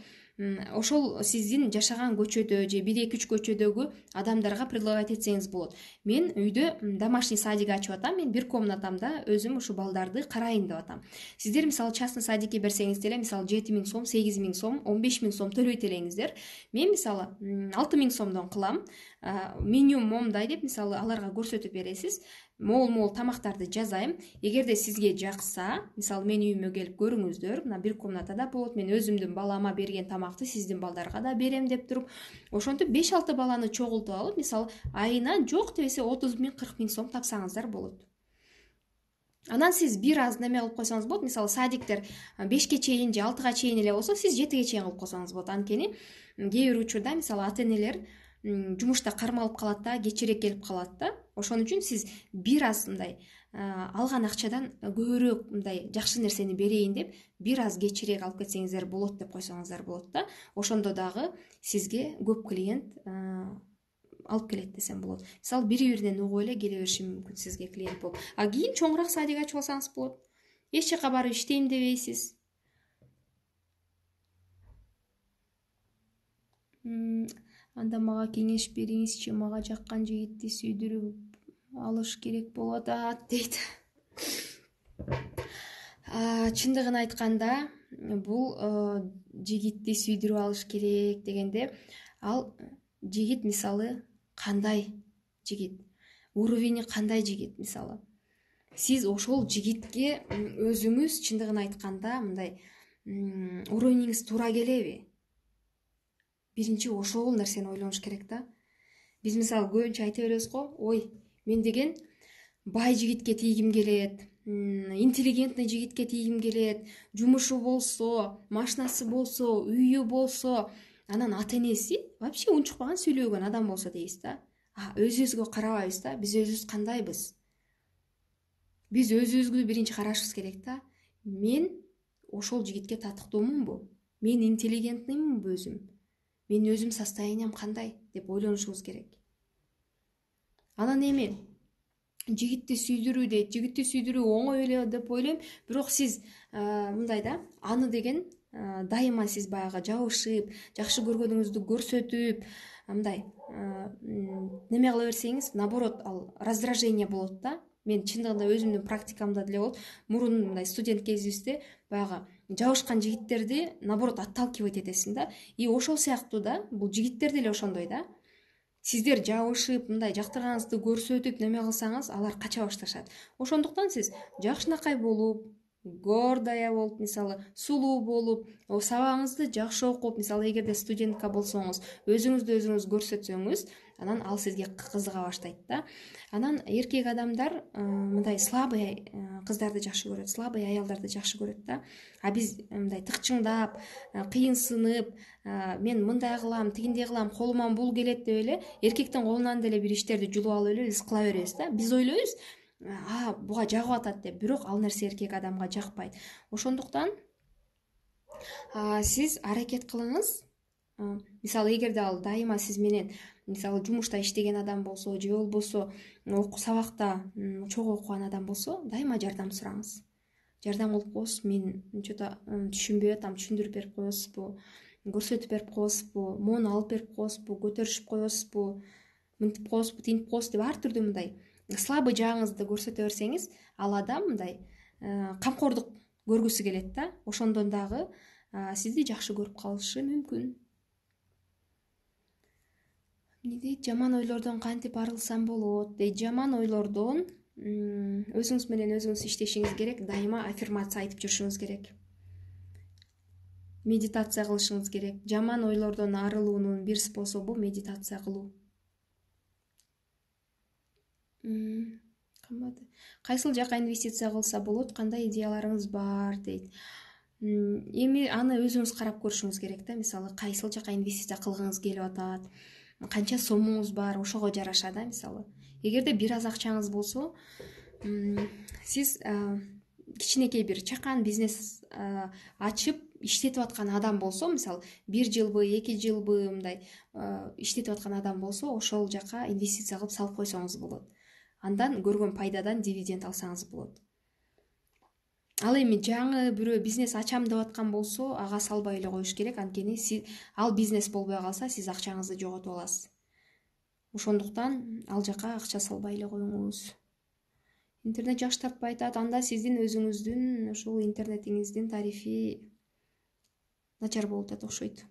ошол сиздин жашаган көчөдө же 1-2-3 көчөдөгү адамдарга предлагать этсеңиз болот. Мен үйдө домашний садик ачып атам, мен бир комнатамда өзүм ушу балдарды карайын деп атам. Сиздер мисалы частный садикке берсеңиз деле, мисалы 7000 сом, 8000 сом, 15000 сом төлөйт элеңиздер. Мен мисалы 6000 сомдон кылам. Меню момдай деп мисалы аларга көрсөтүп бересиз. Мол тамактарды жазайм. Эгерде сизге жакса, мисалы мен үйүмө келип көрүңүздөр. Мына бир комнатада болот. Мен өзүмдүн балама берген тамакты сиздин балдарга да берем деп туруп, ошентип 5-6 баланы чогултуп алып, мисалы айына жок десе 30 000, 40 000 сом тапсаңыздар болот. Анан сиз бир аз неме кылып койсоңуз болот. Мисалы садиктер 5ке чейин же 6га чейин эле болсо, сиз 7ге чейин кылып койсоңуз болот. Анткени кээ бир учурда мисалы ата-энелер жумушта кармалып калат да, кечирээк келип калат да. Ошон үчүн сиз бир аз мындай алган акчадан көбүрөөк мындай жакшы нерсени берейин деп, бир аз кечирээк алып кетсеңиздер болот деп койсоңуздар болот да. Ошондо дагы сизге көп клиент алып келет десем болот. Мисалы бири-биринен угуп эле келе бериши мүмкүн сизге клиент болуп. Кийин чоңураак садик ачып алсаңыз болот. Эч жака барып иштейм дебейсиз. Анда мага кеңеш бериңизчи, мага жаккан жигитти сүйдүрүп алыш керек болуп атат дейт. Чындыгын айтканда, бул жигитти сүйдүрүп алыш керек дегенде, ал жигит мисалы кандай жигит, уровени кандай жигит, мисалы сиз ошол жигитке өзүңүз чындыгын айтканда мындай уровениңиз туура келеби? Биринчи ошол нерсени ойлонуш керек да. Биз мисалы көбүнчө айта беребиз го, ой, мен деген бай жигитке тийгим келет, интеллигентный жигитке тийгим келет, жумушу болсо, машинасы болсо, үйү болсо, анан ата энеси вообще унчукпаган, сүйлөбөгөн адам болсо дейбиз да. Өзүбүзгө карабайбыз да, биз өзүбүз кандайбыз? Биз өзүбүзгө биринчи карашыбыз керек да. Мен ошол жигитке татыктуумунбу? Мен интеллигентныймынбы өзүм? Менин өзүм состоянием кандай деп ойлонушубуз керек. Анан эми жигитти сүйдүрүү дейт. Жигитти сүйдүрүү оңой эле деп ойлойм, бирок сиз мындай да, аны деген дайыма сиз баягы жабышып, жакшы көргөнүңүздү көрсөтүп, мындай неме кыла берсеңиз, наоборот, ал раздражение болот да. Мен чындыгында өзүмдүн практикамда деле болот. Мурун мындай студент кезибизде баягы жабышкан жигиттерди наоборот отталкивать этесиң да. И ошол сыяктуу да, бул жигиттер деле ошондой да. Сиздер жабышып, мындай жактырганыңызды көрсөтүп неме кылсаңыз, алар кача башташат. Ошондуктан сиз жакшынакай болуп, гордая болуп, мисалы, сулуу болуп, сабагыңызды жакшы окуп, мисалы, эгерде студентка болсоңуз, өзүңүздү өзүңүз көрсөтсөңүз, анан ал сизге кызыга баштайт да. Анан эркек адамдар мындай слабый кыздарды жакшы көрөт, слабый аялдарды жакшы көрөт да. Биз мындай тыкчыңдап, кыйынсынып, мен мындай кылам, тигиндей кылам, колуман бул келет деп эле эркектин колунан деле бир иштерди жулуп алып эле биз кыла беребиз да. Биз ойлойбуз, буга жагып атат деп, бирок ал нерсе эркек адамга жакпайт. Ошондуктан сиз аракет кылыңыз. Мисалы, эгерде ал дайыма сиз менен, мисалы, жумушта иштеген адам болсо, же болбосо сабакта чогуу окуган адам болсо, дайыма жардам сураңыз. Жардам кылып коесуз, мен что-то түшүнбөй атам, түшүндүрүп берип коесузбу, көрсөтүп берип коесузбу, моуну алып берип коесузбу, көтөрүшүп коесузбу, мынтип коесузбу, тинтип коесузбу деп ар түрдүү мындай слабый жагыңызды көрсөтө берсеңиз, ал адам мындай камкордук көргүсү келет да. Ошондон дагы сизди жакшы көрүп калышы мүмкүн. Эмне дейт? Жаман ойлордон кантип арылсам болот дейт. Жаман ойлордон өзүңүз менен өзүңүз иштешиңиз керек, дайыма аффирмация айтып жүрүшүңүз керек. Медитация кылышыңыз керек. Жаман ойлордон арылуунун бир способу медитация кылуу. Кайсыл жака инвестиция кылса болот, кандай идеяларыңыз бар дейт. Эми аны өзүңүз карап көрүшүңүз керек да. Мисалы, кайсыл жака инвестиция кылгыңыз келип атат, канча сомуңуз бар, ошого жараша да. Мисалы, эгерде бир аз акчаңыз болсо, сиз кичинекей бир чакан бизнес ачып иштетип аткан адам болсо, мисалы, 1 жылбы, 2 жылбы мындай иштетип аткан адам болсо, ошол жака инвестиция кылып салып койсоңуз болот. Андан көргөн пайдадан дивиденд алсаңыз болот. Ал эми жаңы бирөө бизнес ачам деп аткан болсо, ага салбай эле коюш керек, анткени ал бизнес болбой калса, сиз акчаңызды жоготуп аласыз. Ошондуктан ал жака акча салбай эле коюңуз. Интернет жакшы тартпай атат, анда сиздин өзүңүздүн ушул интернетиңиздин тарифи начар болуп атат окшойт.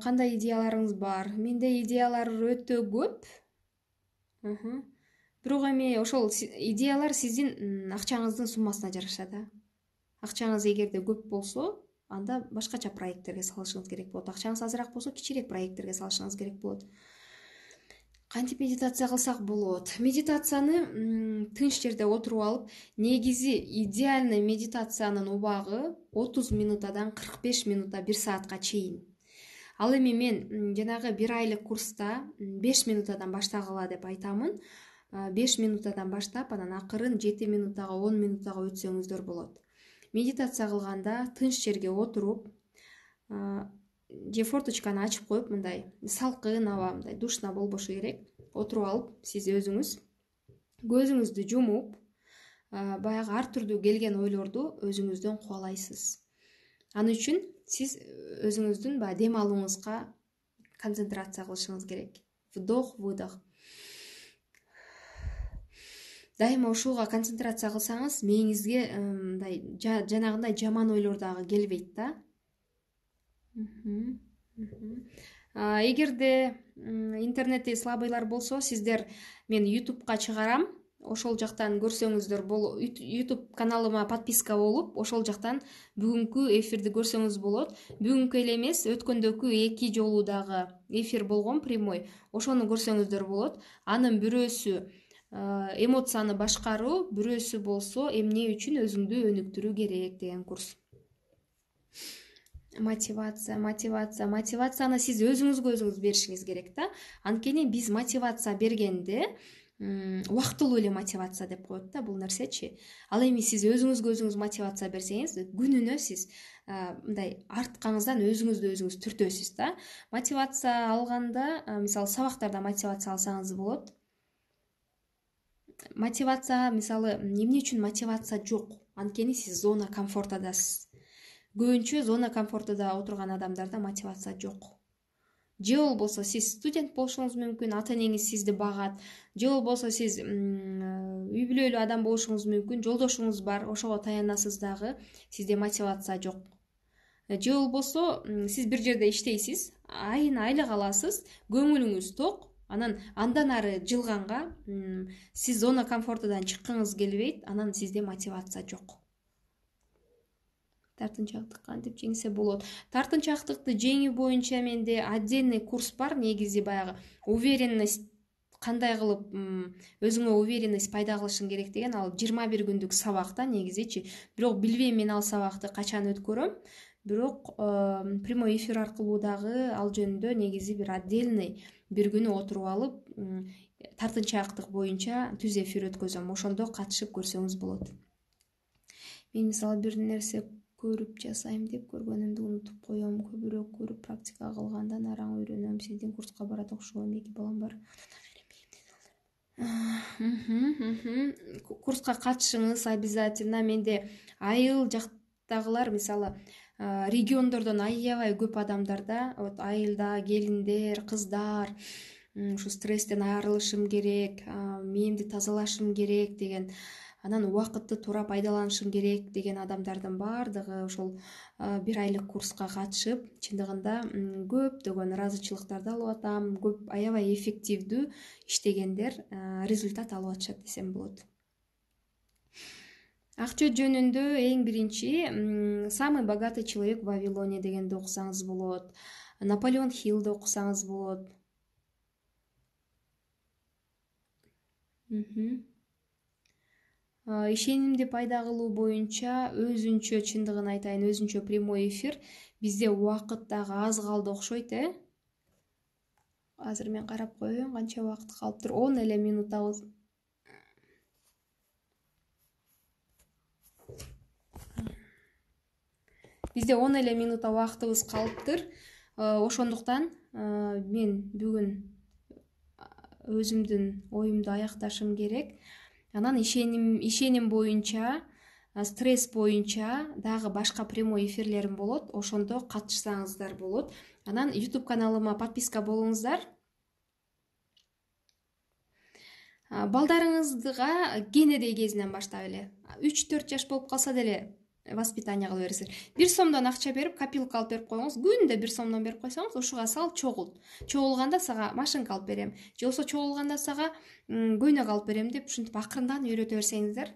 Кандай идеяларыңыз бар? Менде идеялар өтө көп. Бирок эми ошол идеялар сиздин акчаңыздын суммасына жараша да. Акчаңыз эгерде көп болсо, анда башкача проекттерге салышыңыз керек болот. Акчаңыз азыраак болсо, кичирээк проекттерге салышыңыз керек болот. Кантип медитация кылсак болот? Медитацияны тынч жерде отуруп алып, негизи идеальный медитациянын убагы 30 минутадан 45 минута, 1 саатка чейин. Ал эми мен жанагы 1 айлык курста 5 минутадан баштагыла деп айтамын. 5 минутадан баштап, анан акырын 7 минутага, 10 минутага өтсөңүздөр болот. Медитация кылганда тынч жерге отуруп, же форточканы ачып коюп, мындай салкын аба, мындай душна болбошу керек, отуруп алып, сиз өзүңүз көзүңүздү жумуп, баягы ар түрдүү келген ойлорду өзүңүздөн кубалайсыз. Ал үчүн сиз өзүңүздүн баягы дем алууңузга концентрация кылышыңыз керек. Вдох, выдох. Дайыма ушуга концентрация кылсаңыз, мээңизге мындай жанагындай жаман ойлор дагы келбейт да. Эгерде интернетти слабыйлар болсо, сиздер мен YouTube'ка чыгарам. Ошол жактан көрсөңүздөр болот. YouTube каналыма подписка болуп, ошол жактан бүгүнкү эфирди көрсөңүз болот. Бүгүнкү эле эмес, өткөндөгү 2 жолу дагы эфир болгон прямой. Ошону көрсөңүздөр болот. Анын бирөөсү эмоцияны башкаруу, бирөөсү болсо эмне үчүн өзүңдү өнүктүрүү керек деген курс. Мотивацияны сиз өзүңүзгө өзүңүз беришиңиз керек да. Анткени биз мотивация бергенде убактылуу эле мотивация деп коет да бул нерсечи. Ал эми сиз өзүңүзгө өзүңүз мотивация берсеңиз, күнүнө сиз мындай арткаңыздан өзүңүздү өзүңүз түртөсүз да. Мотивация алганда, мисалы сабактарда мотивация алсаңыз болот. Мотивация, мисалы, эмне үчүн мотивация жок? Анткени сиз зона комфортадасыз. Көбүнчө зона комфортуда отурган адамдарда мотивация жок. Же болбосо сиз студент болушуңуз мүмкүн, ата-энеңиз сизди багат. Же болбосо сиз үй бүлөлүү адам болушуңуз мүмкүн, жолдошуңуз бар, ошого таянасыз дагы, сизде мотивация жок. Же болбосо сиз бир жерде иштейсиз, айына айлык аласыз, көңүлүңүз ток, анан андан ары жылганга сиз зона комфортудан чыккыңыз келбейт, анан сизде мотивация жок. Тартынчаактык кантип жеңсе болот? Тартынчаактыкты жеңүү боюнча менде отдельный курс бар, негизи баягы уверенность кандай кылып өзүңө уверенность пайда кылышың керек деген, ал 21 күндүк сабак да негизичи. Бирок билбейм мен ал сабакты качан өткөрөм. Бирок прямой эфир аркылуу дагы ал жөнүндө негизи бир отдельный бир күнү отуруп алып, тартынчаактык боюнча түз эфир өткөзөм. Ошондо катышып көрсөңүз болот. Мен мисалы бир нерсе көрүп жасайм деп көргөнүмдү унутуп коем. Көбүрөөк көрүп практика кылгандан араң үйрөнөм. Сиздин курска барат окшогон 2 балам бар. Курска катышыңыз обязательно. Менде айыл жактагылар, мисалы, региондордон аябай көп адамдар да, вот айылда келиндер, кыздар, ушу стресстен арылышым керек, мээмди тазалашым керек деген, анан убакытты туура пайдаланышым керек деген адамдардын баардыгы ошол бир айлык курска катышып, чындыгында көптөгөн ыраазычылыктарды алып атам, көп аябай эффективдүү иштегендер результат алып атышат десем болот. Акча жөнүндө эң биринчи «Самый богатый человек в Вавилоне» дегенди окусаңыз болот. Наполеон Хиллди окусаңыз болот. Ишенимди пайда кылуу боюнча өзүнчө, чындыгын айтайын, өзүнчө прямой эфир. Бизде убакыт дагы аз калды окшойт, Азыр мен карап коеюн, канча убакыт калыптыр. 10 эле минутабыз. Бизде 10 эле минута убактыбыз калыптыр. Ошондуктан мен бүгүн өзүмдүн оюмду аякташым керек. Анан ишеним боюнча, стресс боюнча дагы башка прямой эфирлерим болот. Ошондо катышсаңыздар болот. Анан YouTube каналыма подписка болуңуздар. Балдарыңызга кенедей кезинен баштап эле 3-4 жаш болуп калса деле воспитание кылып бересиздер. 1 сомдон акча берип, копилка алып берип коюңуз. Күндө 1 сомдон берип койсоңуз, ушуга сал чогулт. Чогулганда сага машинка алып берем. Же болбосо чогулганда сага көйнөк алып берем деп ушинтип акырындан үйрөтө берсеңиздер.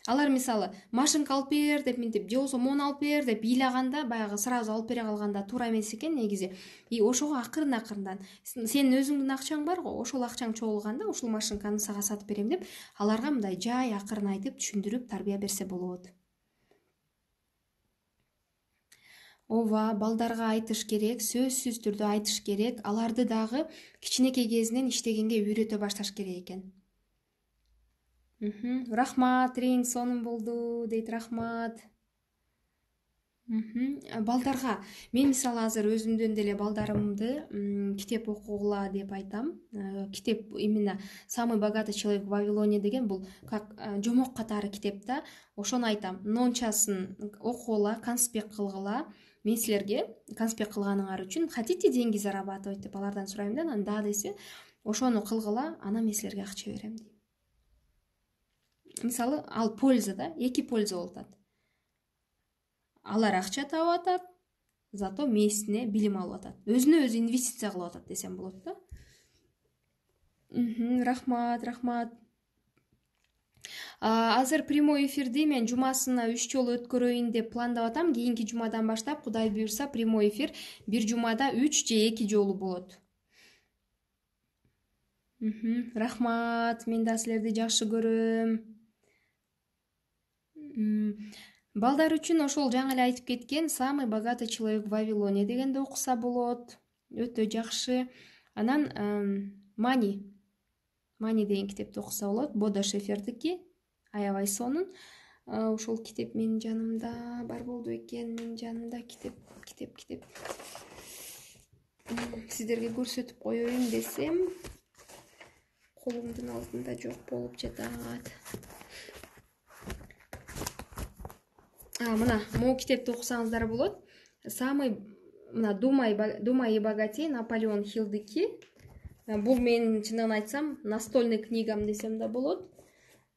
Алар мисалы машинка алып бер деп минтип, же болбосо мону алып бер деп ыйлаганда, баягы сразу алып бере калганда туура эмес экен негизи. И ошого акырындан сенин өзүңдүн акчаң бар го, ошол акчаң чогулганда ушул машинканы сага сатып берем деп аларга мындай жай акырын айтып, түшүндүрүп, тарбия берсе болот. Ооба, балдарга айтыш керек, сөзсүз түрдө айтыш керек. Аларды дагы кичинекей кезинен иштегенге үйрөтө башташ керек экен. Рахмат, рейиң сонун болду дейт, рахмат. Балдарга мен мисалы азыр өзүмдөн деле балдарымды китеп окугула деп айтам. Китеп именно «Самый богатый человек в Вавилоне» деген бул как жомок катары китеп да. Ошону айтам. Нончасын окугула, конспект кылгыла. Мен силерге конспект кылганыңар үчүн хотите деньги зарабатывать деп алардан сурайм да. Анан да десе, ошону кылгыла, анан мен силерге акча берем дейм. Мисалы, ал польза да, эки польза болуп атат. Алар акча табып атат, зато мээсине билим алып атат. Өзүнө өзү инвестиция кылып атат десем болот да. Рахмат. Азыр прямой эфирди мен жумасына 3 жолу өткөрөйүн деп пландап атам. Кийинки жумадан баштап, Кудай буйрса, прямой эфир бир жумада 3 же 2 жолу болот. Рахмат, мен да силерди жакшы көрөм. Балдар үчүн ошол жаңы эле айтып кеткен «Самый богатый человек в Вавилоне» дегенди окуса болот. Өтө жакшы. Анан Мани деген китепти окуса болот. Бодо Шефердики, аябай сонун. Ошол китеп менин жанымда бар болду экен. Менин жанымда китеп. Сиздерге көрсөтүп коеюн десем, колумдун алдында жок болуп жатат. Мына могу китепти окусаңыздар болот. «Думай и богатей» Наполеон Хиллдики. Бул менин чындыгын айтсам настольный книгам десем да болот.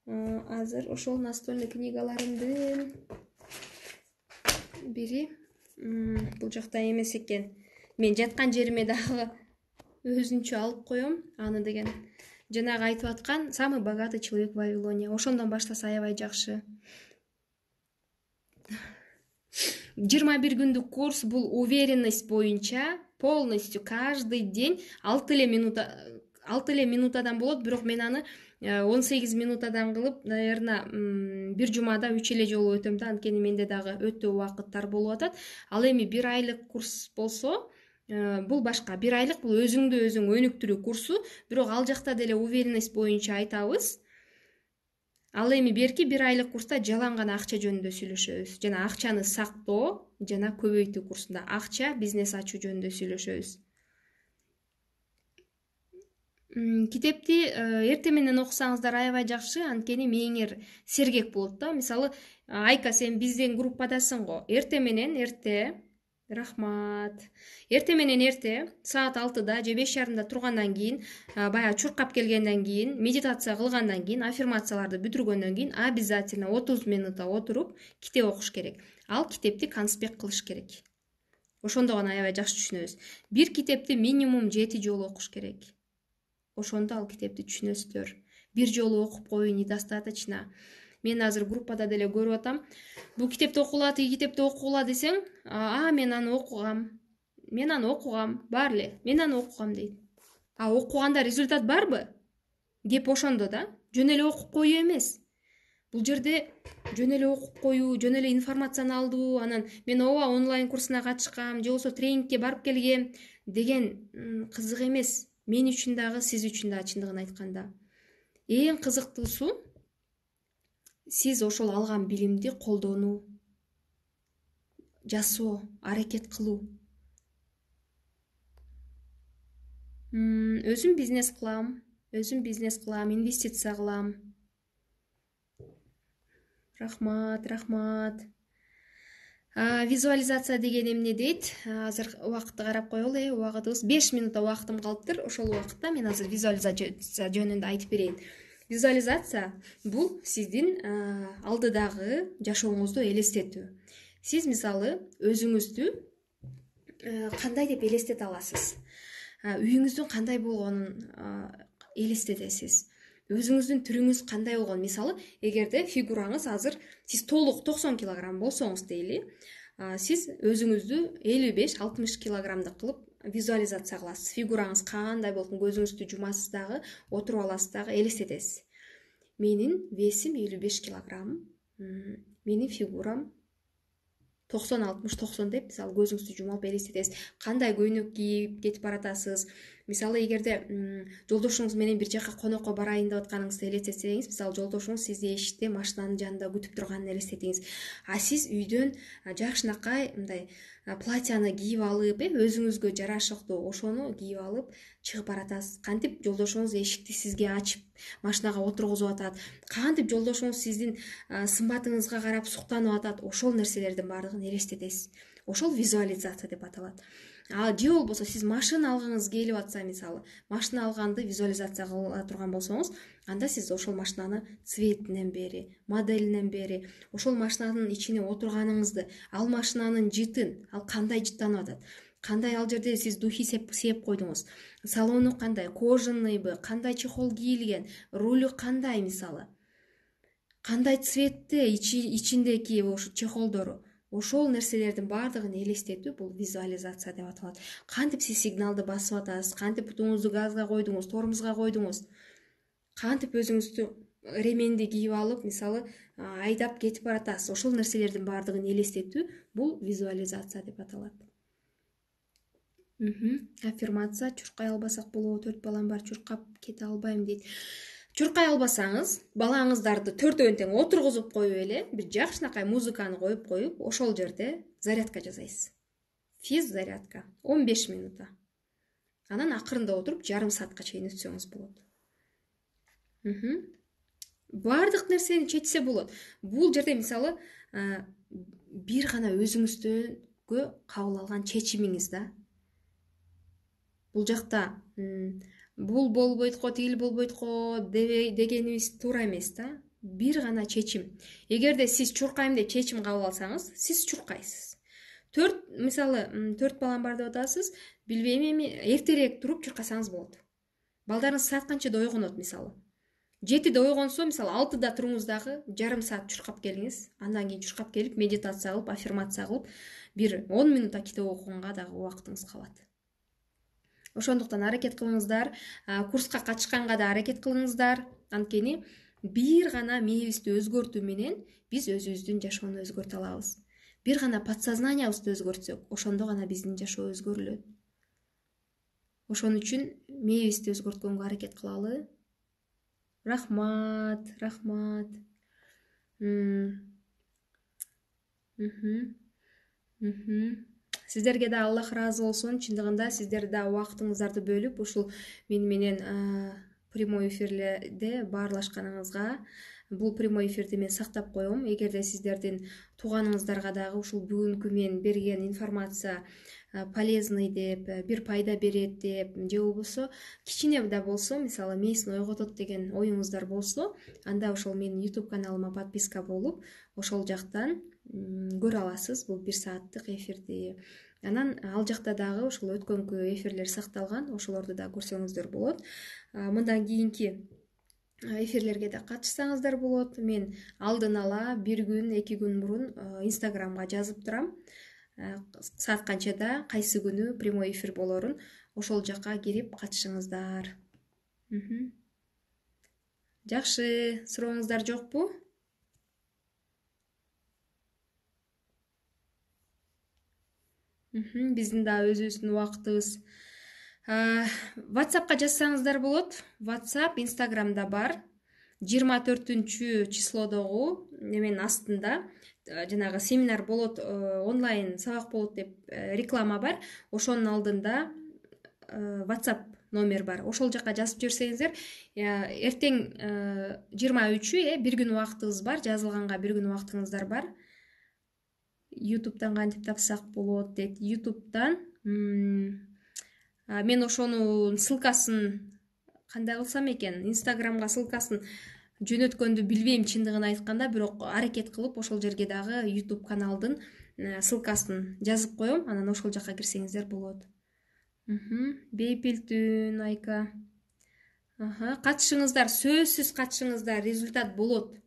Азыр ошол настольный книгаларымдын бири бул жакта эмес экен. Мен жаткан жериме дагы өзүнчө алып коем. Аны деген жанагы айтып аткан «Самый богатый человек в Вавилоне». Ошондон баштаса аябай жакшы. 21 күндүк курс бул уверенность боюнча полностью каждый день 6 эле минутадан болот, бирок мен аны 18 минутадан кылып, наверное, бир жумада 3 эле жолу өтөм да, анткени менде дагы өтө убакыттар болуп атат. Ал эми 1 айлык курс болсо, бул башка. 1 айлык бул өзүңдү өзүң өнүктүрүү курсу, бирок ал жакта деле уверенность боюнча айтабыз. Ал эми берки 1 айлык курста жалаң гана акча жөнүндө сүйлөшөбүз. Жана акчаны сактоо жана көбөйтүү курсунда акча, бизнес ачуу жөнүндө сүйлөшөбүз. Китепти эртең менен окусаңыздар аябай жакшы, анткени мээңер сергек болот да. Мисалы, Айка, сен биздин группадасың го. Эртең менен рахмат. Эртең менен саат 6-да же 5:30-да тургандан кийин, баягы чуркап келгенден кийин, медитация кылгандан кийин, аффирмацияларды бүтүргөндөн кийин обязательно 30 минутта отуруп китеп окуш керек. Ал китепти конспект кылыш керек. Ошондо гана аябай жакшы түшүнөбүз. Бир китепти минимум 7 жолу окуш керек. Ошондо ал китепти түшүнөсүздөр. Бир жолу окуп коюу недостаточно. Мен азыр группада деле көрүп атам. Бул китепти окугула, тиги китепти окугула десең, мен аны окугам, бар эле, мен аны окугам дейт. Окуганда результат барбы? Кеп ошондо да, жөн эле окуп коюу эмес. Бул жерде жөн эле окуп коюу, жөн эле информацияны алдуу, анан мен онлайн курсуна катышкам, же болбосо тренингке барып келгем деген кызык эмес. Мен үчүн дагы, сиз үчүн дагы чындыгын айтканда. Эң кызыктуусу сиз ошол алган билимди колдонуу, жасоо, аракет кылуу. Өзүм бизнес кылам, инвестиция кылам. Рахмат. Визуализация деген эмне дейт? Азыр убакытты карап коелу, убагытыбыз 5 минутта убактым калыптыр. Ошол убакытта мен азыр визуализация жөнүндө айтып берейин. Визуализация бул сиздин алдыдагы жашооңузду элестетүү. Сиз мисалы өзүңүздү кандай деп элестете аласыз? Үйүңүздүн кандай болгонун элестетесиз. Өзүңүздүн түрүңүз кандай болгон? Мисалы, эгерде фигураңыз азыр сиз толук 90 килограмм болсоңуз дейли, сиз өзүңүздү 55-60 килограммдык кылып визуализация кыласыз. Фигураңыз кандай болгон, көзүңүздү жумасыз дагы, отуруп аласыз дагы, элестетесиз. Менин весим 55 килограмм, менин фигурам 90-60-90 деп, мисалы, көзүңүздү жумуп элестетесиз. Кандай көйнөк кийип кетип баратасыз, Мисалы эгерде жолдошуңуз менен бир жака конокко барайын деп атканыңызды элестетсеңиз, мисалы жолдошуңуз сизди эшикте машинанын жанында күтүп турганын элестетиңиз. А сиз үйдөн жакшынакай мындай платьяны кийип алып, өзүңүзгө жарашыктуу ошону кийип алып чыгып баратасыз. Кантип жолдошуңуз эшикти сизге ачып машинага отургузуп атат, кантип жолдошуңуз сиздин сымбатыңызга карап суктанып атат, ошол нерселердин баардыгын элестетесиз. Ошол визуализация деп аталат. Же болбосо сиз машина алгыңыз келип атса, мисалы, машина алганды визуализация кыла турган болсоңуз, анда сиз ошол машинаны цветинен бери, моделинен бери, ошол машинанын ичине отурганыңызды, ал машинанын жытын, ал кандай жыттанып атат, кандай ал жерде сиз духи сеп койдуңуз, салону кандай, кожанныйбы, кандай чехол кийилген, рулю кандай, мисалы, кандай цветте ичиндеги ошо чехолдору. Ошол нерселердин баардыгын элестетүү бул визуализация деп аталат. Кантип сиз сигналды басып атасыз, кантип бутуңузду газга койдуңуз, тормозго койдуңуз, кантип өзүңүздү ременди кийип алып, мисалы, айдап кетип баратасыз. Ошол нерселердин баардыгын элестетүү бул визуализация деп аталат. Аффирмация: чуркай албасак болобу, 4 балам бар, чуркап кете албайм дейт. Чуркай албасаңыз, балаңыздарды төртөөнү тең отургузуп коюп эле, бир жакшынакай музыканы коюп, ошол жерде зарядка жасайсыз. Физ-зарядка 15 минута. Анан акырында отуруп, жарым саатка чейин өтсөңүз болот. Баардык нерсени чечсе болот. Бул жерде мисалы бир гана өзүңүздөгө кабыл алган чечимиңиз да. Бул жакта бул болбойт го, тигил болбойт го дегенибиз туура эмес да. Бир гана чечим. Эгерде сиз чуркайм деп чечим кабыл алсаңыз, сиз чуркайсыз. Мисалы 4 балам бар деп атасыз, билбейм эми эртерээк туруп чуркасаңыз болот. Балдарыңыз саат канчада ойгонот, мисалы 7-де ойгонсо, мисалы 6-да туруңуз дагы жарым саат чуркап келиңиз. Андан кийин чуркап келип, медитация кылып, аффирмация кылып, бир 10 минутта китеп окуганга дагы убактыңыз калат. Ошондуктан аракет кылыңыздар, курска катышканга да аракет кылыңыздар. Анткени бир гана мээбизди өзгөртүү менен биз өзүбүздүн жашоону өзгөртө алабыз. Бир гана подсознаниябызды өзгөртсөк, ошондо гана биздин жашоо өзгөрүлөт. Ошон үчүн мээбизди өзгөрткөнгө аракет кылалы. Рахмат. Сиздерге да Аллах ыраазы болсун. Чындыгында сиздер да убактыңыздарды бөлүп ушул менен прямой эфирлерде баарлашканыңызга, бул прямой эфирди мен сактап коем. Эгерде сиздердин тууганыңыздарга дагы ушул бүгүнкү мен берген информация полезный деп, бир пайда берет деп, же болбосо кичине да болсо, мисалы, мээсин ойготот деген оюңуздар болсо, анда ошол менин YouTube каналыма подписка болуп, ошол жактан көрө аласыз бул 1 сааттык эфирди. Анан ал жакта дагы ошол өткөнкү эфирлер сакталган, ошолорду да көрсөңүздөр болот. Мындан кийинки эфирлерге да катышсаңыздар болот. Мен алдын ала 1 күн, 2 күн мурун Instagramга жазып турам. Саат канчада, кайсы күнү прямой эфир болорун, ошол жакка кирип катышыңыздар. Жакшы, сурооңуздар жокпу? Биздин да өзүбүздүн убактыбыз. WhatsAppка жазсаңыздар болот. WhatsApp Instagramда бар. 24 числодогу неменин астында жанагы семинар болот, онлайн сабак болот деп реклама бар. Ошонун алдында WhatsApp номер бар. Ошол жакка жазып жиберсеңиздер, эртең 23-ү, 1 күн убактыбыз бар, жазылганга 1 күн убактыңыздар бар. YouTube'дан кантип тапсак болот дейт. YouTube'дан мен ошонун ссылкасын кандай кылсам экен, Instagramга ссылкасын жөнөткөндү билбейм чындыгын айтканда, бирок аракет кылып ошол жерге дагы YouTube каналдын ссылкасын жазып коем, анан ошол жакка кирсеңиздер болот. Бейпилтүн Айка. Катышыңыздар, сөзсүз катышыңыздар, результат болот.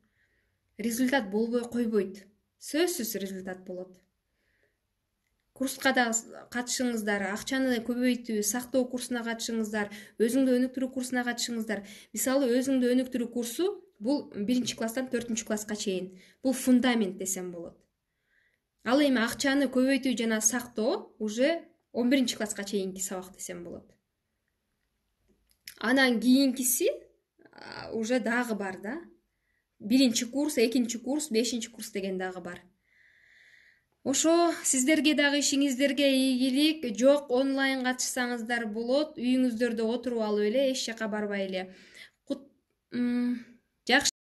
Результат болбой койбойт. Сөзсүз результат болот. Курска да катышыңыздар, акчаны көбөйтүү, сактоо курсуна катышыңыздар, өзүңдү өнүктүрүү курсуна катышыңыздар. Мисалы, өзүңдү өнүктүрүү курсу бул 1-класстан 4-класска чейин. Бул фундамент десем болот. Ал эми акчаны көбөйтүү жана сактоо уже 11-класска чейинки сабак десем болот. Анан кийинкиси уже дагы бар да. 1-курс, 2-курс, 5-курс деген дагы бар. Ошо сиздерге дагы ишиңиздерге ийгилик. Жок, онлайн катышсаңыздар болот. Үйүңүздөрдө отуруп алып эле, эч жака барбай эле. Жакшы.